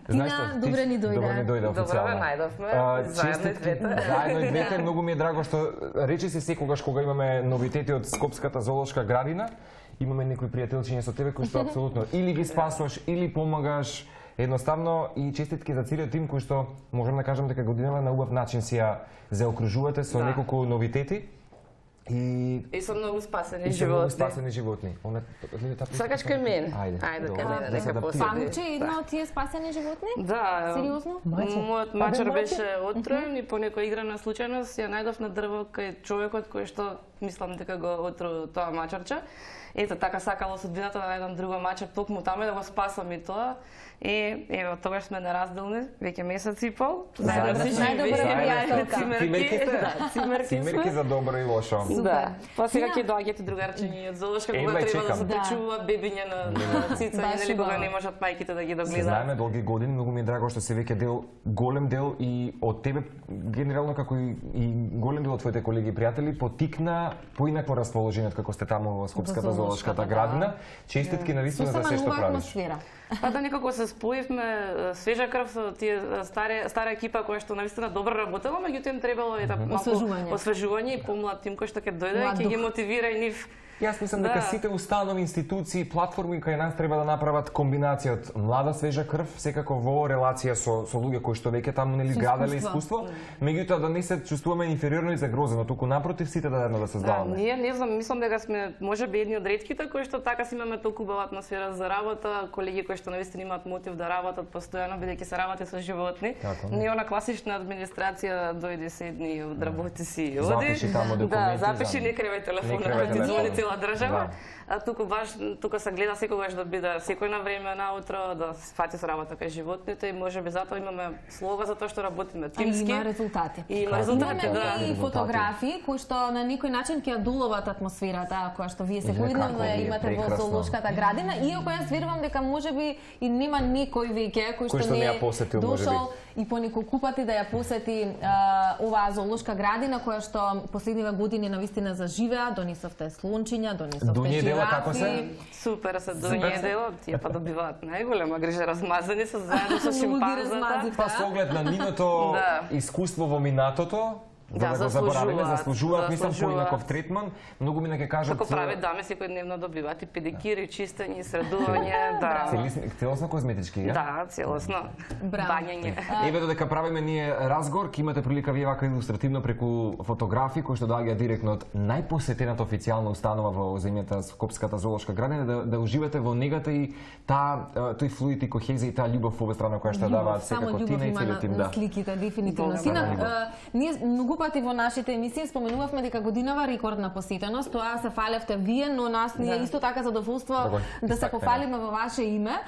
Speaker 2: Тина, добре ни дојде.
Speaker 1: Добре ни дојде официјално.
Speaker 12: Добре најдовме, заедно и двете.
Speaker 1: Заедно и двете, многу ми е драго што речи се секогаш кога имаме новитети од Скопската зоолошка градина, имаме некои пријателчиња со тебе кои што апсолутно или ги спасуваш, или помагаш. Едноставно и честитки за целиот тим кој што можам да кажам дека годинава на убав начин си ја заокружувате со неколку новитети
Speaker 12: и со многу спасени животни.
Speaker 1: И со многу спасени животни.
Speaker 12: Сакаш кај мене?
Speaker 1: Ајде,
Speaker 12: кај мене, нека посети.
Speaker 2: Памукче е една од тие спасени животни?
Speaker 12: Да.
Speaker 2: Сериозно?
Speaker 12: Мојот мачар беше отроен и по некоја играна случајност ја најдов на дрво кај човекот кој што мислам дека го отру тоа мачарче. Ето, така сакало судбината на еден друго мачар токму таму да го спасам и тоа. И ево, тогаш сме неразделни, веќе месец и пол.
Speaker 2: Најдобра
Speaker 12: цимерки.
Speaker 1: Цимерки за добро и лошо.
Speaker 12: Да. Па сега ќе доаѓате другарчиња од зоолошка кога треба да се почуваат бебиња на цицања, нели кога не можат мајките да ги догледаат.
Speaker 1: Знаеме долги години, многу ми е драго што се веќе дел, голем дел и од тебе генерално како и голем дел од твоите колеги и пријатели потикна поинакво расположение како сте таму во Скопската зоолошката градина. Честитки навистина за се што правиш.
Speaker 12: Па да некако се споивме свежа крв со тие стара екипа која што навистина добро работела, меѓутоа им требало и малку освежување и помлад тим кој што ќе дојде и ќе ги мотивира и нив.
Speaker 1: Јас мислам дека сите установи, институции, платформи кај нас треба да направат комбинација од млада свежа крв, секако во релација со луѓе кои што веќе таму нели граделе искуство, меѓутоа да не се чувствуваме инфериорно и загрозено, туку напротив сите да едно да создаваме.
Speaker 12: Ние не знам, мислам дека сме можеби едни од ретките кои што така си имаме толку убава атмосфера за работа, колеги кои што навистина имаат мотив да работат постојано бидејќи се работи со животни. Не она класична администрација дојде седни и одработи си и оди.
Speaker 1: Запиши таму документи.
Speaker 12: Да, запиши, не кривај телефон. Држава, а тука се гледа секогаш да биде секој на време наутро, да се фати со работа кај животните и можеби затоа имаме слога за тоа што работиме тимски.
Speaker 2: Има резултати.
Speaker 12: И има резултати, да.
Speaker 2: Имаме и фотографии кои што на некој начин ќе доловат атмосферата која што вие секојдневно ја имате во зоолошката градина, иако јас верувам дека можеби и нема некој веќе кој што не е дошол и по неколку пати да ја посети оваа зоолошка градина која што последниве години навистина заживеа, донесовте слончиња, донесовте жирафи.
Speaker 12: Супер се доње дело, тие па добиваат најголема грижа, размазани се заедно со шимпанзата.
Speaker 1: Па со оглед на нивното искуство во минатото, да го заборавиме, заслужуваат, мислам, поинаков третман. Многу ми ќе кажат...
Speaker 12: Како прави даме, секојдневно добиваат и педикири, чистење, средување, да.
Speaker 1: Целосно козметички, ја?
Speaker 12: Да, целосно. Бањање.
Speaker 1: Еве додека правиме ние разговор, ќе имате прилика вие вака илустративно преку фотографии кои што доаѓаат директно од најпосетената официјална установа во земјата Скопската зоолошка градина, да уживате во негата и тој флуид и кохезија и таа љубов во обе страна која што даваат секако Тина и целиот тим.
Speaker 2: Само љубов има на сликите, дефинитивно. Ние многу пати во нашите емисии споменувавме дека годинава рекордна посетеност, тоа се фалевте вие, но нас ни е исто така задоволство да се пофалиме во ваше име.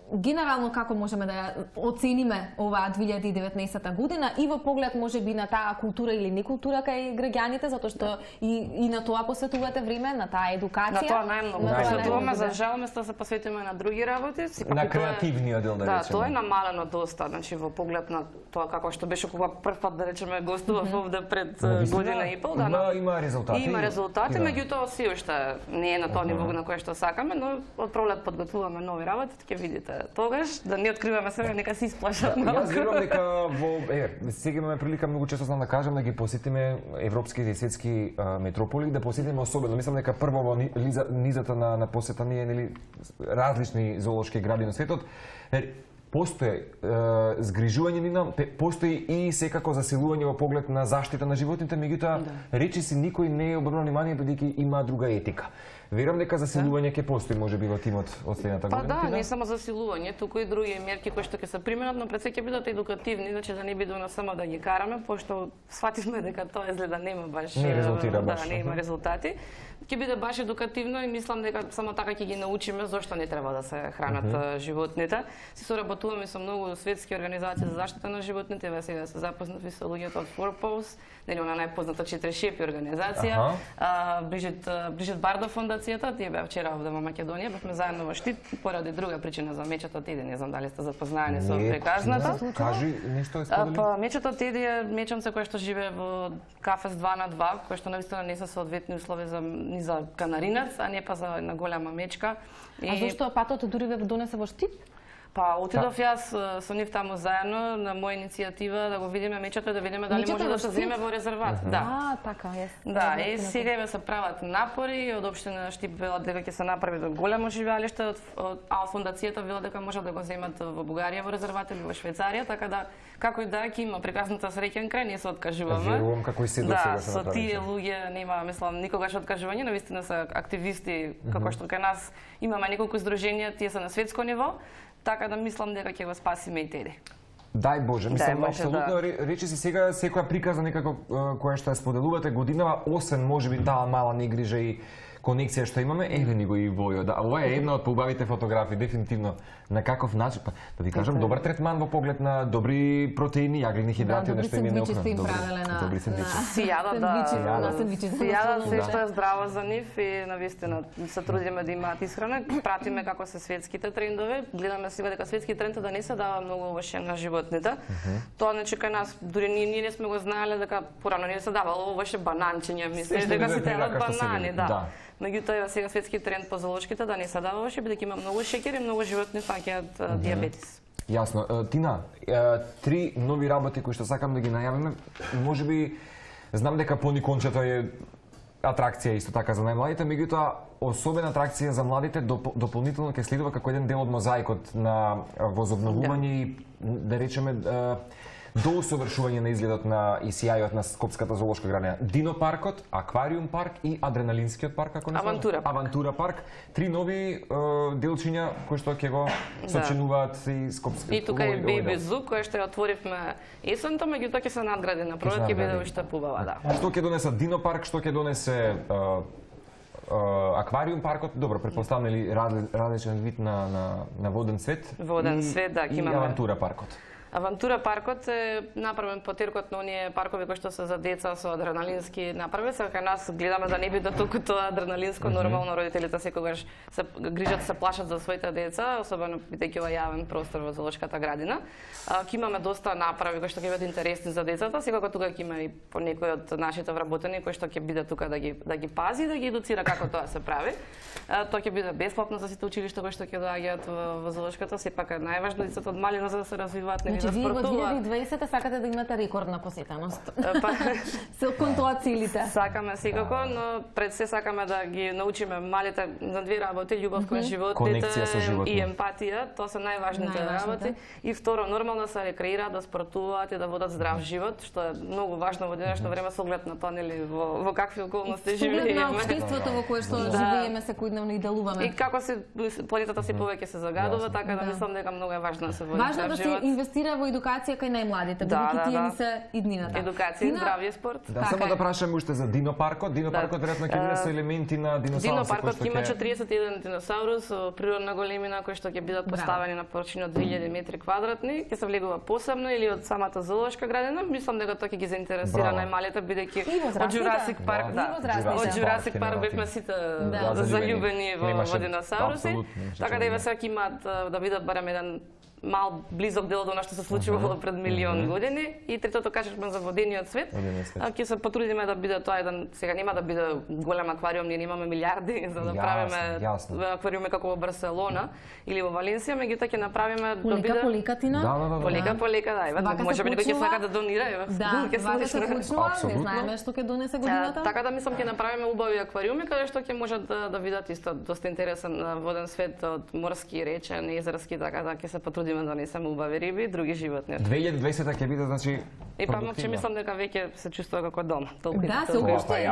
Speaker 2: Генерално како можеме да ја оцениме оваа 2019 година и во поглед можеби на таа култура или некултура кај граѓаните, затоа што и на тоа посветувате време, на таа едукација.
Speaker 12: На тоа најмногу посветуваме, за жал место се посветиме на други работи.
Speaker 1: На креативниот дел, да речеме.
Speaker 12: Да, тоа е намалено доста, значи во поглед на тоа како што беше кога прв пат да речеме гостував овде пред година и пол,
Speaker 1: има резултати.
Speaker 12: Има резултати, меѓутоа се уште не е на тоа ниво на кое што сакаме, но од пролет подготвуваме нови работи, ќе видите. Тогаш да не откриваме себе, нека се исплашат малку.
Speaker 1: Јас верувам дека сега имаме прилика многу често да кажам да ги посетиме европските и светски метрополи, да посетиме особено. Мислам дека прво во низата на посета ние нели различни зоолошки гради на светот. Постои згрижување нина, постои и секако засилување во поглед на заштита на животните, меѓутоа речиси никој не е обрнал внимание бидејќи има друга етика. Верувам дека засилување ќе постои можеби во тимот од следната година.
Speaker 12: Па да, не само засилување, туку и други мерки кои што ќе се применат, но пред се ќе бидат едукативни, значи да не бидеме само да ги караме, пошто сфативме дека тоа изгледа нема баш
Speaker 1: не резултира баш.
Speaker 12: Да, нема резултати. Ќе биде баш едукативно и мислам дека само така ќе ги научиме зошто не треба да се хранат животните. Си соработуваме со многу светски организации за заштита на животните, ве сега се запознати со луѓето од Fourpaws, нели она најпозната 4 шепи организација, Брижит Бардо фондацијата, тие беа вчера овде во Македонија, бевме заедно во Штип поради друга причина за мечето Теди, не знам дали сте запознаени со приказната.
Speaker 1: Кажи нешто сподели.
Speaker 12: Па мечето Теди е меченце кој што живее во кафес 2 на 2, кој што навистина не се соодветни услови за канаринец, а не па за една голема мечка.
Speaker 2: А зошто патот дури ве донесе во Штип?
Speaker 12: Па отидов јас со нив таму заедно на моја иницијатива да го видиме мечето и да видиме дали може да се земе во резерват. Да.
Speaker 2: Така е.
Speaker 12: Да, и сега еве се прават напори, од општина Штип велат дека ќе се направи големо живеалиште, а фондацијата велат дека може да го земат во Бугарија во резерват или во Швајцарија, така да како и да ќе има прекрасната среќен крај, ние се откажуваме.
Speaker 1: Верувам како и се до сега се
Speaker 12: направи. Да, со тие луѓе нема, мислам, никогаш откажување, навистина се активисти, како што кај нас имаме неколку здруженија, тие се на светско ниво. Така да мислам дека ќе го спасиме и Теди.
Speaker 1: Дај Боже, мислам апсолутно речи си сега секоја приказна некако која што ја споделувате годинава, освен можеби таа мала негрижа и конекција што имаме, еве ни го и Војо. Да, ова е една од поубавите фотографии, дефинитивно. На каков начин, па да ви кажам, добар третман во поглед на добри протеини, јаглени хидрати, нешто им е необходно.
Speaker 2: Добри
Speaker 12: сендвичи. Сијада се што е здраво за нив и навистина се трудиме да имаат исхрана, пратиме како се светските трендови, гледаме сега дека светски тренд да не се дава многу овоше на животните. Тоа значи кај нас дури ние не сме го знаеле дека порано не се давало овоше бананчиња, мислиш дека се телат банани, да. Меѓутоа сега светски тренд по зоолошките да не се дава овоше, бидејќи има многу шеќер и многу животни фаќаат дијабетис.
Speaker 1: Јасно. Тина, 3 нови работи кои што сакам да ги најавиме, можеби знам дека Поникончето е атракција исто така за најмладите, меѓутоа особена атракција за младите дополнително ќе следува како еден дел од мозаикот на возобновување и да речеме доусовршување на изгледот на и сијајот на Скопската зоолошка градина. Динопаркот, Аквариум парк и Адреналинскиот парк, како не
Speaker 12: Авантура.
Speaker 1: Авантура парк. 3 нови делчиња кои што ќе го сочинуваат и Скопскиот.
Speaker 12: И тука е Baby Zoo, кој што ја отворивме есента, меѓутоа ќе се надгради на пролет, ќе биде уште побава, да.
Speaker 1: Што ќе донесе Динопарк, што ќе донесе Аквариум паркот, добро, претпоставам нели различен вид на воден свет.
Speaker 12: Воден свет, да, ќе имаме.
Speaker 1: И Авантура паркот.
Speaker 12: Авантура паркот е направен потеркот на оние паркови кои што се за деца со адреналински направи. Сега кај нас гледаме да не биде толку тоа адреналинско, нормално родителите секогаш се грижат, се плашат за своите деца, особено бидејќи ова јавен простор во зоолошката градина. Ќе имаме доста направи кои што ќе бидат интересни за децата, секако тука ќе има и по некој од нашите вработени кои што ќе биде тука да ги пази, да ги едуцира како тоа се прави. Тоа ќе биде бесплатно за сите училишта кои што ќе доаѓаат во зоолошката, сепак е најважно децата од малина за да се развиваат.
Speaker 2: Значи, вие го 2020 сакате да имате рекордна посетеност. Се кон тоа целите.
Speaker 12: Сакаме секако, но пред се сакаме да ги научиме малите на две работи, љубов кон животните и емпатија, тоа се најважните работи. И второ, нормално се рекреираат, да спортуваат и да водат здрав живот, што е многу важно во денешно време со оглед на тоа нели во какви околности живееме.
Speaker 2: На општеството во кое што живееме секојдневно и делуваме.
Speaker 12: И како се планетата се повеќе се загадува, така да мислам дека многу е важно да се води здрав живот.
Speaker 2: Важно да се инвестира инвестира во едукација кај најмладите, бидејќи тие ни се иднината.
Speaker 12: Едукација и здравје спорт.
Speaker 1: Да, само да прашам уште за динопаркот. Динопаркот веројатно ќе биде со елементи на диносауруси.
Speaker 12: Динопаркот ќе има 41 диносаурус со природна големина кои што ќе бидат поставени на површина од 2000 метри квадратни, ќе се влегува посебно или од самата зоолошка градина. Мислам дека тоа ќе ги заинтересира најмалите, бидејќи од Jurassic Park, од Jurassic Park бевме сите заљубени во диносауруси. Така да еве сега ќе имаат да видат барем еден мал близок дел од она што се случувало пред милион години. И третото кажешме за водениот свет. Ќе се потрудиме да биде тоа еден, сега нема да биде голем аквариум, ние немаме милиарди за да правиме аквариуми како во Барселона или во Валенсија, меѓутоа ќе направиме да биде
Speaker 2: полека,
Speaker 12: полека, да, еве, можеби некој ќе сака да донира, еве.
Speaker 2: Вака се почнува, не знаеме што ќе донесе годината.
Speaker 12: Така да мислам ќе направиме убави аквариуми каде што ќе можат да видат исто доста интересен воден свет од морски, речен, езерски, така да ќе се потрудиме да донесеме убави риби и други животни.
Speaker 1: 2020 ќе биде, значи,
Speaker 12: и памукче мислам дека веќе се чувствува како дома.
Speaker 2: Да, се уште.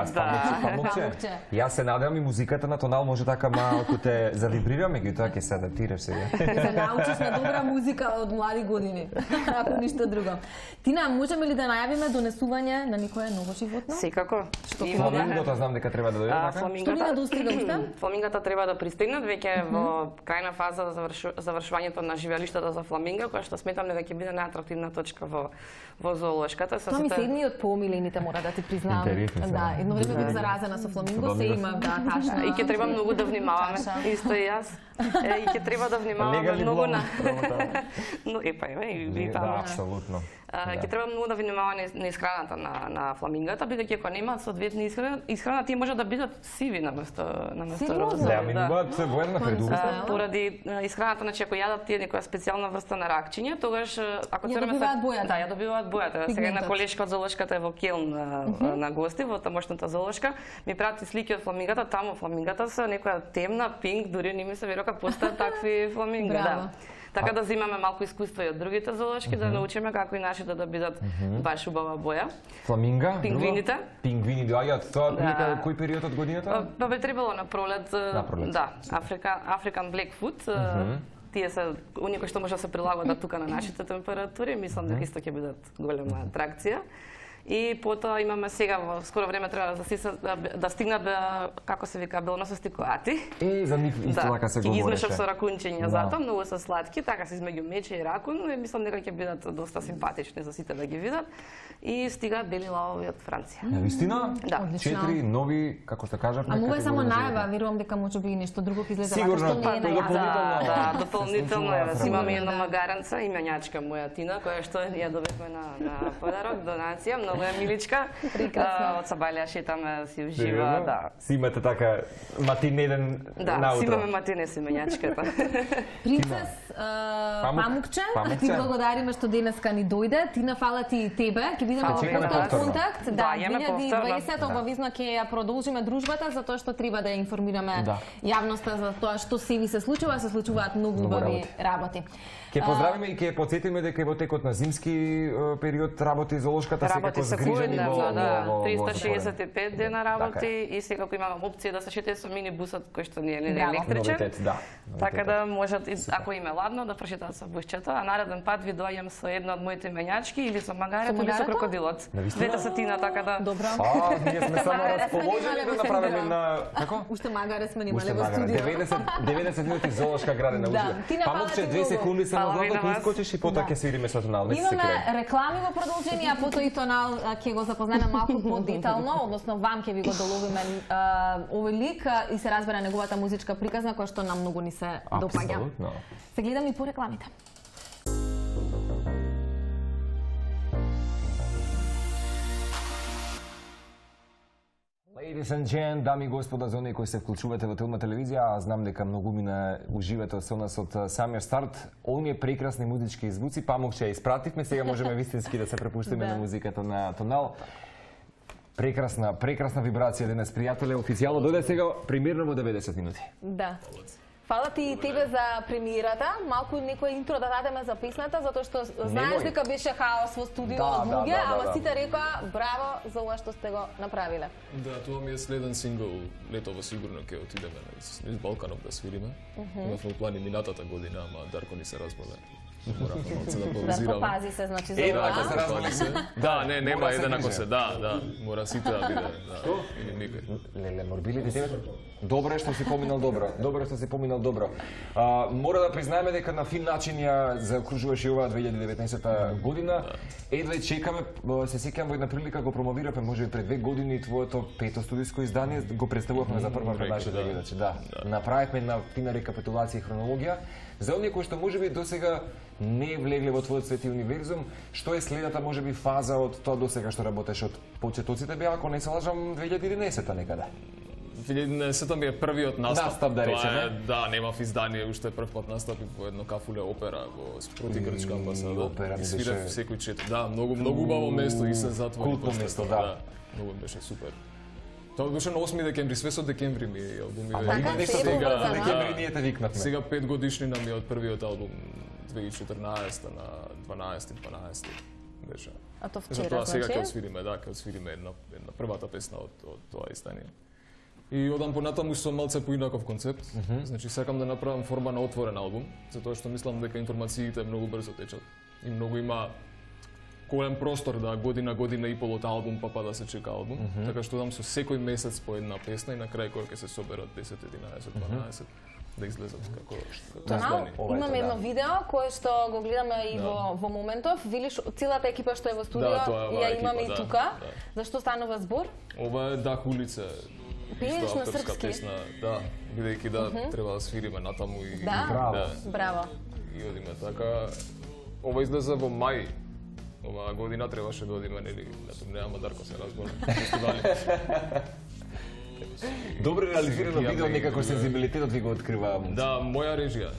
Speaker 1: Памукче. Јас се надевам и музиката на Тонал може така малку те завибрира, меѓутоа ќе се адаптираш сега.
Speaker 2: Се научиш на добра музика од млади години, ако ништо друго. Тина, можеме ли да најавиме донесување на некое ново животно?
Speaker 12: Секако.
Speaker 1: Фламингото знам дека треба да дојде, така?
Speaker 2: Што ни недостига уште?
Speaker 12: Фламингата треба да пристигнат веќе во крајна фаза за завршувањето на живеалиштата за фламинга, која што сметам дека ќе биде најатрактивна точка во зоолошката.
Speaker 2: Тоа ми се едни од поомилените, мора да ти признам. Да, едно време бев заразена со фламинго, се има, да, ташна.
Speaker 12: И ќе треба многу да внимаваме, исто и јас. И ќе треба да внимаваме многу на... Но и
Speaker 1: да, апсолутно.
Speaker 12: Ќе треба многу да внимаваме на исхраната на фламингата, бидејќи ако немаат соодветна исхрана, тие може да бидат сиви наместо розови.
Speaker 1: Да, минуваат воена предубиста.
Speaker 12: Поради исхраната, значи ако јадат тие некоја специјална врста на ракчиња, тогаш ако
Speaker 2: ја добиваат бојата.
Speaker 12: Да, ја добиваат бојата. Сега на колешка од зоолошката е во Келн на гости во тамошната зоолошка, ми прати слики од фламингата, таму фламингата се некоја темна, пинк, дури не ми се верува како постаат такви фламинга, да. Така да земаме малку искуство и од другите зоолошки, да научиме како и нашите да бидат баш убава боја.
Speaker 1: Фламинга?
Speaker 12: Пингвините?
Speaker 1: Пингвини доаѓаат, тоа прилика кој период од годината?
Speaker 12: Па би требало на пролет. Да, African Blackfoot. Тие се они кои што може да се прилагодат тука на нашите температури, мислам дека исто ќе бидат голема атракција. И потоа имаме сега во скоро време треба да стигнат како се вика белоносости коати.
Speaker 1: За нив исто така се
Speaker 12: говореше. Ги измешав со ракунчиња затоа, многу се сладки, така се измеѓу мече и ракун, и мислам дека ќе бидат доста симпатични за сите да ги видат. И стигаат бели лавови од Франција.
Speaker 1: Навистина?
Speaker 12: Да.
Speaker 1: 4 нови, како што кажав,
Speaker 2: ама ова е само најава, верувам дека можеби и нешто друго ќе излезе вака што не е најава.
Speaker 12: Да, дополнително имаме една магаранца, именјачка моја Тина, која што ја добивме на подарок, донација, многу е миличка. Од Сабалија шетаме, си ужива, да.
Speaker 1: Си имате така матинеден наутро.
Speaker 12: Да, си имаме матине со именјачката.
Speaker 2: Принцес Памукче, ти благодариме што денеска ни дојде. Тина, фала ти и тебе. Ќе бидеме во повторен контакт. Да, 2020 обавизно ќе ја продолжиме дружбата, затоа што треба да ја информираме јавноста за тоа што се ви се случуваат многу убави работи.
Speaker 1: Ќе поздравиме и ќе потсетиме дека во текот на зимски период работи зоолошката секако згрижени во
Speaker 12: 365 дена работи и секако имаме опција да се шетате со минибусот кој што не е електричен. Така да можат, ако им е ладно, да прошетаат со бусчето, а нареден пат ви доаѓам со една од моите именјачки или со магарето или со крокодилот. Двете се Тина, така да...
Speaker 2: Добро.
Speaker 1: Ние сме само расположени да направиме на... Како?
Speaker 2: Уште магаре сме немале во студио.
Speaker 1: 90 минути зоолошка градина уживе. Памукче 2 секунди само за да искочиш и потоа ќе свириме со Тонал.
Speaker 2: Имаме реклами во продолжение, а потоа и Тонал ќе го запознаеме малку подетално, односно вам ќе ви го доловиме овој лик и се разбере неговата музичка приказна која што нам многу ни се допаѓа. Се гледам и по рекламите.
Speaker 1: Ladies and gentlemen, дами и господа, за оние кои се вклучувате во Телма телевизија, а знам дека многумина уживате со нас од самиот старт. Оние прекрасни музички звуци, Памукче ја испративме, сега можеме вистински да се препуштиме на музиката на Тонал. Прекрасна вибрација денес, пријателе, официјално дојде сега примерно во 90 минути.
Speaker 2: Да. Фала ти и тебе за премиерата. Малку некој интро да дадеме за песната, затоа што знаеш дека беше хаос во студио од луѓе, ама сите рекоа браво за ова што сте го направиле.
Speaker 3: Да, тоа ми е следен сингл, летово сигурно ќе отидеме низ Балканот да свириме. Имавме плани минатата година, ама Дарко ни се разболе. Мора малце да
Speaker 2: Да,
Speaker 3: паузирам.
Speaker 2: попази се, значи, за
Speaker 1: Ако се
Speaker 2: ова.
Speaker 1: развали се.
Speaker 3: Да, нема
Speaker 1: Мора се
Speaker 3: еден ако
Speaker 1: грижи.
Speaker 3: се, да, мора сите да биде, да. Или никој.
Speaker 1: Леле, морбилите тебе. Добро е што си поминал добро. Добро е што си поминал добро. Мора да признаеме дека на фин начин ја заокружуваш и оваа 2019 година. Едва чекаме, се сеќавам во една прилика го промовиравме можеби пред 2 години твоето пето студиско издание, го представувавме за прва пред нашите гледачи. Да. Направивме една фина рекапитулација и хронологија за оние кои што можеби досега не влегле во твојот свети универзум. Што е следната можеби фаза од тоа досега што работеше од почетоците беа, ако не се лажам, 2011 некаде.
Speaker 3: 2011 ми е првиот настап.
Speaker 1: Настап, да речеме.
Speaker 3: Да, немав издание, уште прв пат настапи во едно кафуле опера во спроти грчка амбасада.
Speaker 1: Опера ми
Speaker 3: свирев
Speaker 1: беше-
Speaker 3: секој четврт. Да, многу убаво место и се затвори.
Speaker 1: Култно
Speaker 3: после
Speaker 1: место,
Speaker 3: тоа,
Speaker 1: да.
Speaker 3: Многу беше супер. Тоа беше на 8 декември, све со декември ми албуми.
Speaker 1: Ама има нешто
Speaker 2: се е
Speaker 1: сега,
Speaker 2: поврзано.
Speaker 1: декември ние те викнавме.
Speaker 3: Сега 5 годишнина ми е од првиот албум 2014 на 12 беше.
Speaker 2: А то
Speaker 3: За
Speaker 2: вчера,
Speaker 3: тоа сега ќе
Speaker 2: значи?
Speaker 3: освириме, да, ќе освириме една првата песна од тоа издание. И одам понатаму со малце поинаков концепт. Значи сакам да направам форма на отворен албум, затоа што мислам дека информациите многу брзо течат и многу има голем простор да година и пол од албум па да се чека албум. Така што одам со секој месец по една песна и на крај кога ќе се соберат 10, 11, 12 да излезат како
Speaker 2: Тонал,
Speaker 3: издание.
Speaker 2: имаме едно видео кое што го гледаме и во моментов. Велиш целата екипа што е во студио,
Speaker 3: Да, тоа е оваа
Speaker 2: ја имаме
Speaker 3: екипа,
Speaker 2: и
Speaker 3: да,
Speaker 2: тука.
Speaker 3: да.
Speaker 2: Зашто станува збор?
Speaker 3: Ова е Дах улица.
Speaker 2: Пееш
Speaker 3: исто
Speaker 2: на
Speaker 3: авторска
Speaker 2: српски?
Speaker 3: песна, да, бидејќи треба да свириме натаму и
Speaker 2: Да, браво.
Speaker 3: И одиме така. Ова излезе во мај. Оваа година требаше да одиме нели на турнеја, ама Дарко се разболи.
Speaker 1: Добро реализирано
Speaker 3: Ја
Speaker 1: видео,
Speaker 3: ме-
Speaker 1: некако сензибилитетот ви го открива.
Speaker 3: Да, моја режија.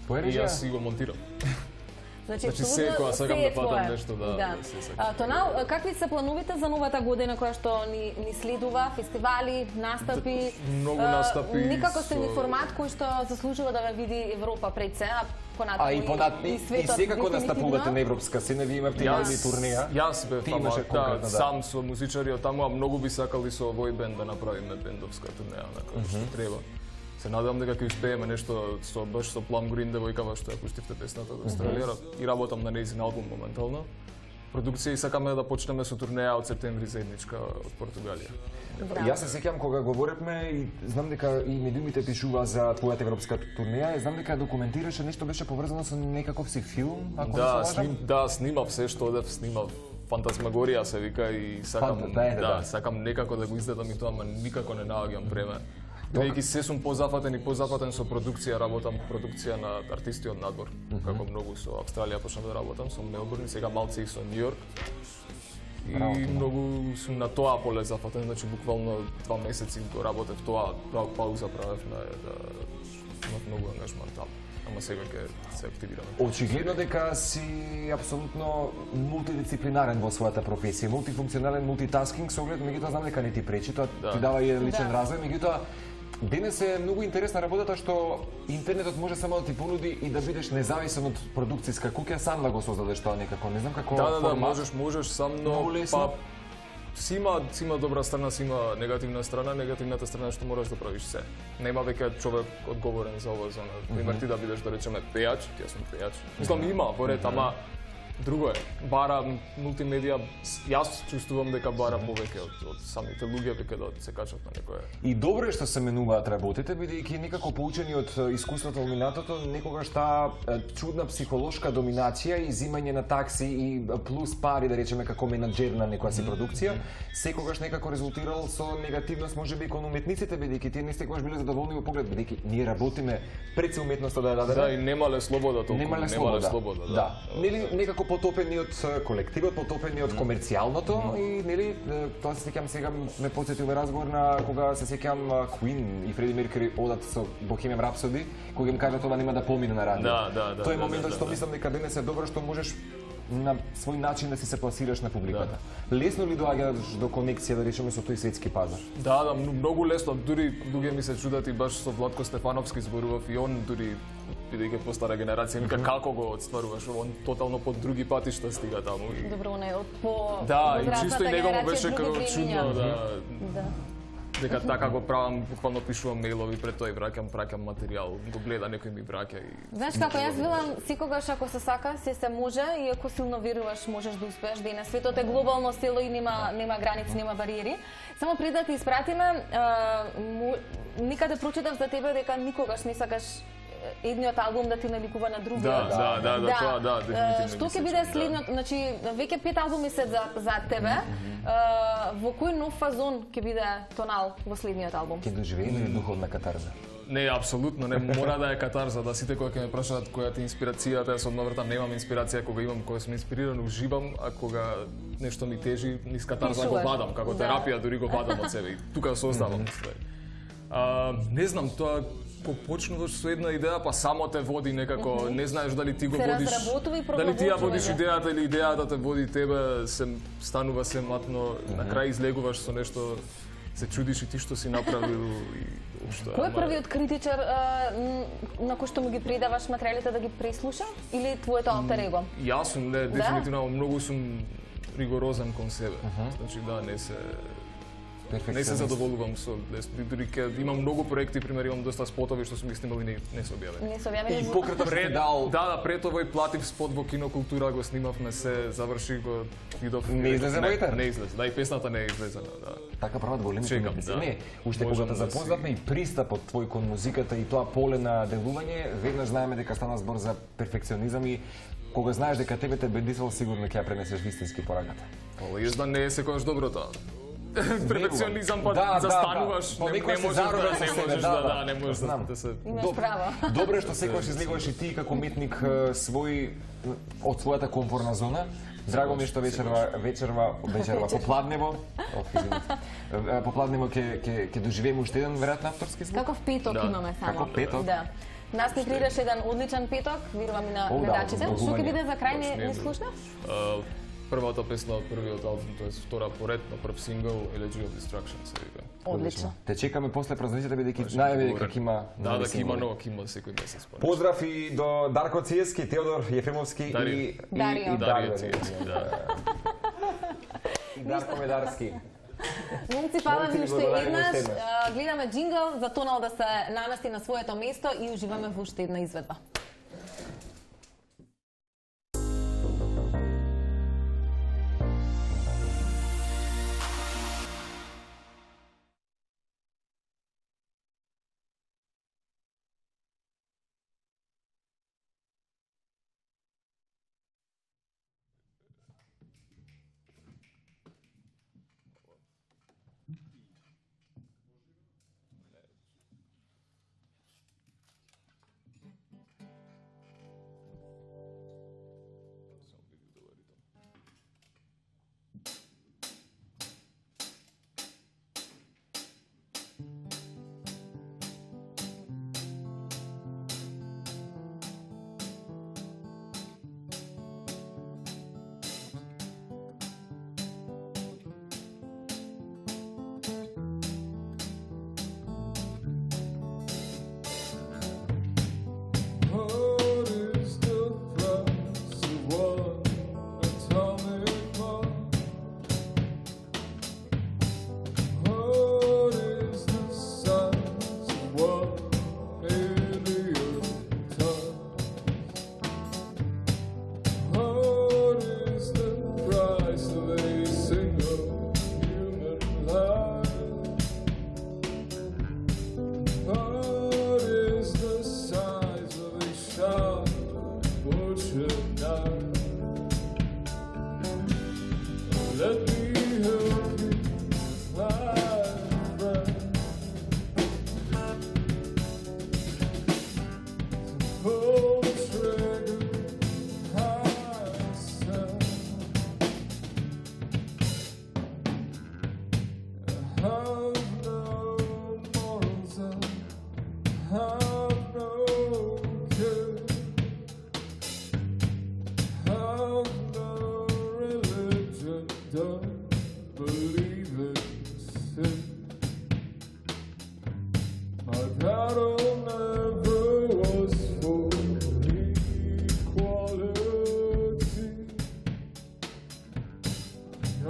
Speaker 1: Твоја
Speaker 3: И
Speaker 1: режија?
Speaker 3: јас си го монтирам.
Speaker 2: Значи,
Speaker 3: Значи,
Speaker 2: апсолутно
Speaker 3: секоја сакам
Speaker 2: се е
Speaker 3: да фатам
Speaker 2: твое.
Speaker 3: нешто, да се сакам.
Speaker 2: Тонал, какви се плановите за новата година која што ни следува? Фестивали, настапи?
Speaker 3: Многу настапи
Speaker 2: Некако сте ни
Speaker 3: со-
Speaker 2: формат кој што заслужува да ве види Европа пред се, а понатаму
Speaker 1: И
Speaker 2: светот
Speaker 1: сега кога
Speaker 2: дефинитивно.
Speaker 1: настапувате на европска сцена, вие имате или турнеја.
Speaker 3: Јас бев
Speaker 1: Ти
Speaker 3: таму,
Speaker 1: имаше конкретно, да.
Speaker 3: сам со музичари од таму, а многу би сакали со овој бенд да направиме бендовска турнеја, на што треба. Се надевам дека ќе успееме нешто со баш со Plum Green девојкава што ја пуштивте песната од Австралија и работам на нејзин албум моментално. Продукција и сакаме да почнеме со турнеја од септември заедничка од Португалија.
Speaker 1: Јас се сеќавам кога говоревме и знам дека и медиумите пишува за твојата европска турнеја, и знам дека документираше нешто беше поврзано со некаков си филм, ако
Speaker 3: Да,
Speaker 1: не се лажам.
Speaker 3: снимав се што одев, снимав Фантазмагорија се вика и сакам
Speaker 1: да.
Speaker 3: сакам некако да го издадам и тоа, ама никако не наоѓам време. Бидејќи се сум позафатен со продукција, работам продукција на артисти од надвор, како многу со Австралија почнав да работам, со Мелбурн и сега малце и со Нью Йорк. И многу сум на тоа поле зафатен, значи буквално 2 месеци го работев тоа, пауза правев на да имав многу ангажман таму. Ама сега ќе се активираме.
Speaker 1: Очигледно дека си апсолутно мултидисциплинарен во својата професија, мултифункционален, мултитаскинг, со оглед, меѓутоа знам дека не ти пречи, тоа ти дава и личен развој, меѓутоа денес е многу интересна работата што интернетот може само да ти понуди и да бидеш независен од продукцијска куќа, сам да го создадеш тоа некако, не знам како
Speaker 3: Да,
Speaker 1: формат.
Speaker 3: можеш сам, но
Speaker 1: Многу лесно.
Speaker 3: си има добра страна, си има негативна страна, негативната страна е што мораш да правиш се. Нема веќе човек одговорен за ова зона. Пример ти да бидеш да речеме пејач, ти јас сум пејач. Мислам има поред, ама друго е. Бара мултимедија, јас чувствувам дека бара повеќе од самите луѓе веќе да се качат на некое.
Speaker 1: И добро е што се менуваат работите, бидејќи некако поучени од искуството од минатото, некогаш таа чудна психолошка доминација и зимање на такси и плюс пари, да речеме, како менаџер на некоја си продукција, секогаш некако резултирал со негативност можеби кон уметниците, бидејќи тие не секогаш биле задоволни во поглед, бидејќи ние работиме пред се уметноста да ја дадеме.
Speaker 3: Да, и немале слобода толку.
Speaker 1: Немале слобода. Да. Нели некако потопени од колективот, потопени од комерцијалното и нели тоа се сеќам сега ме потсети овој разговор на кога се сеќам Queen и Фреди Меркури одат со Bohemian Rhapsody, кога им кажат ова нема да помине на радио.
Speaker 3: Да.
Speaker 1: Тоа е моментот што мислам дека денес е добро што можеш на свој начин да си се пласираш на публиката. Лесно ли доаѓаш до конекција, да речеме, со тој светски пазар?
Speaker 3: Да, многу лесно. Дури луѓе ми се чудат и баш со Владко Стефановски зборував и он дури бидејќи постара генерација, вика како го отстваруваш, он тотално по други патишта стига таму.
Speaker 2: Добро, не, од по
Speaker 3: Да, и
Speaker 2: возрастната
Speaker 3: чисто и него му
Speaker 2: генерација
Speaker 3: беше
Speaker 2: други
Speaker 3: како
Speaker 2: времиња.
Speaker 3: чудно, да. дека така го правам, буквално пишувам мејлови пред тоа и праќам материјал, го гледа некој ми праќа и...
Speaker 2: Знаеш како, јас велам, секогаш ако се сака, се може и ако силно веруваш, можеш да успееш денес. Светот е глобално село и нема граници, нема бариери. Само пред да ти испратиме, никаде прочитав за тебе дека никогаш не сакаш едниот албум да ти наликува на другиот.
Speaker 3: Да, дефинитивно.
Speaker 2: Што ќе биде следниот, значи веќе 5 албуми се за тебе. Во кој нов фазон ќе биде Тонал во следниот албум?
Speaker 1: Ќе доживееме ли духовна катарза?
Speaker 3: Не, апсолутно, не мора да е катарза, да сите кои ќе ме прашаат која ти е инспирацијата, јас одновртам немам инспирација, кога сум инспириран, уживам, а кога нешто ми тежи, низ катарза го вадам, како терапија, дури го вадам од себе и тука се оставам. Не знам, тоа кога почнуваш со една идеја, па само те води некако, не знаеш дали ти го водиш, дали ти ја водиш идејата или идејата те води тебе, станува се матно, на крај излегуваш со нешто, се чудиш и ти што си направил и уште.
Speaker 2: Кој е првиот критичар на кој што му ги предаваш материјалите да ги преслуша или твоето алтер его?
Speaker 3: Јас сум, не, дефинитивно многу сум ригорозен кон себе. Значи да, не се задоволувам со дури ке имам многу проекти, пример имам доста спотови што сум ги снимали не се објавени.
Speaker 2: Не се објавени.
Speaker 1: И покрета пред дал.
Speaker 3: Да, пред овој платив спот во Кинокултура го снимавме се, заврши го видов.
Speaker 1: Не излезе во етер?
Speaker 3: Не излезе. Да, и песната не е излезена, да.
Speaker 1: Така прават големите уметници. Не, уште
Speaker 3: Можам
Speaker 1: кога те запознавме и пристапот твој кон музиката и тоа поле на делување, веднаш знаеме дека стана збор за перфекционизам и кога знаеш дека тебе те бедисал, сигурно ќе ја пренесеш вистински пораката.
Speaker 3: Јас да не е секогаш добро тоа. Перфекционизам па застануваш, не можеш да се...
Speaker 2: Имаш право.
Speaker 1: Добре што секогаш излегуваш и ти како уметник свој од својата комфортна зона. Драго ми е што вечерва попладнево ќе доживееме уште еден веројатно авторски звук.
Speaker 2: Каков петок имаме само.
Speaker 1: Како петок?
Speaker 2: Да. Нас ни придеше еден одличен петок, верувам и на гледачите. Што ќе биде за крај, не слушнав?
Speaker 3: Првата песна од првиот албум, тоа е втора поред на прв сингл Elegy of Destruction се вика.
Speaker 2: Одлично.
Speaker 1: Те чекаме после празниците бидејќи најави дека има
Speaker 3: ќе има секој месец.
Speaker 1: Поздрав и до Дарко Циевски, Теодор Ефремовски и
Speaker 2: Дарио
Speaker 3: Циевски, да.
Speaker 1: И Дарко Медарски.
Speaker 2: Момци, фала ви уште еднаш. Гледаме джингл за Тонал да се намести на своето место и уживаме во уште една изведба.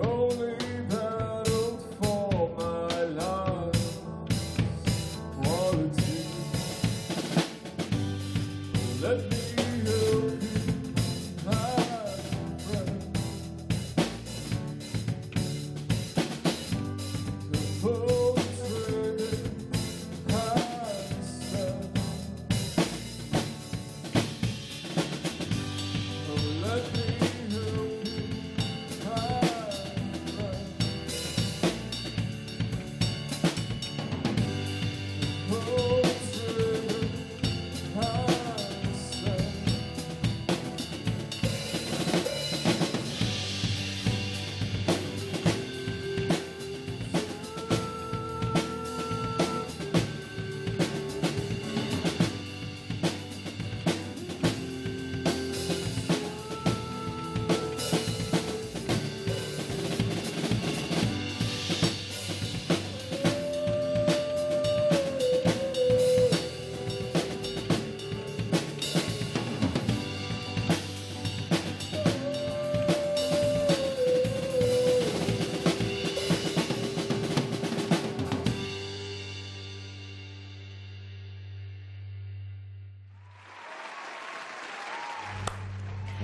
Speaker 13: Only battled for my life.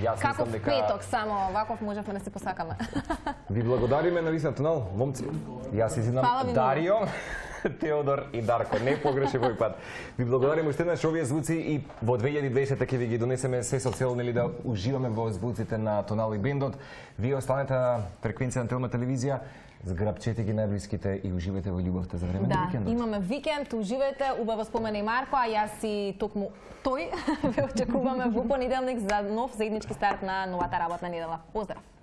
Speaker 1: Јас
Speaker 2: Каков
Speaker 1: мислам дека
Speaker 2: петок, само ваков можевме да се посакаме.
Speaker 1: ви благодариме на Висна Тунел, момци. Јас изидам
Speaker 2: Фала ви
Speaker 1: Дарио, Теодор и Дарко. Не погреши овој пат. Ви благодариме уште еднаш, овие звуци и во 2020 ќе ви ги донесеме се со цел нели да уживаме во звуците на Тунел и бендот. Вие останете на фреквенција на Телма телевизија. Зграбчете ги најблиските и уживајте во љубовта за време на викендот.
Speaker 2: Да, имаме викенд, уживајте, убаво спомена и Марко, а јас и токму тој ве очекуваме во понеделник за нов заеднички старт на новата работна недела. Поздрав!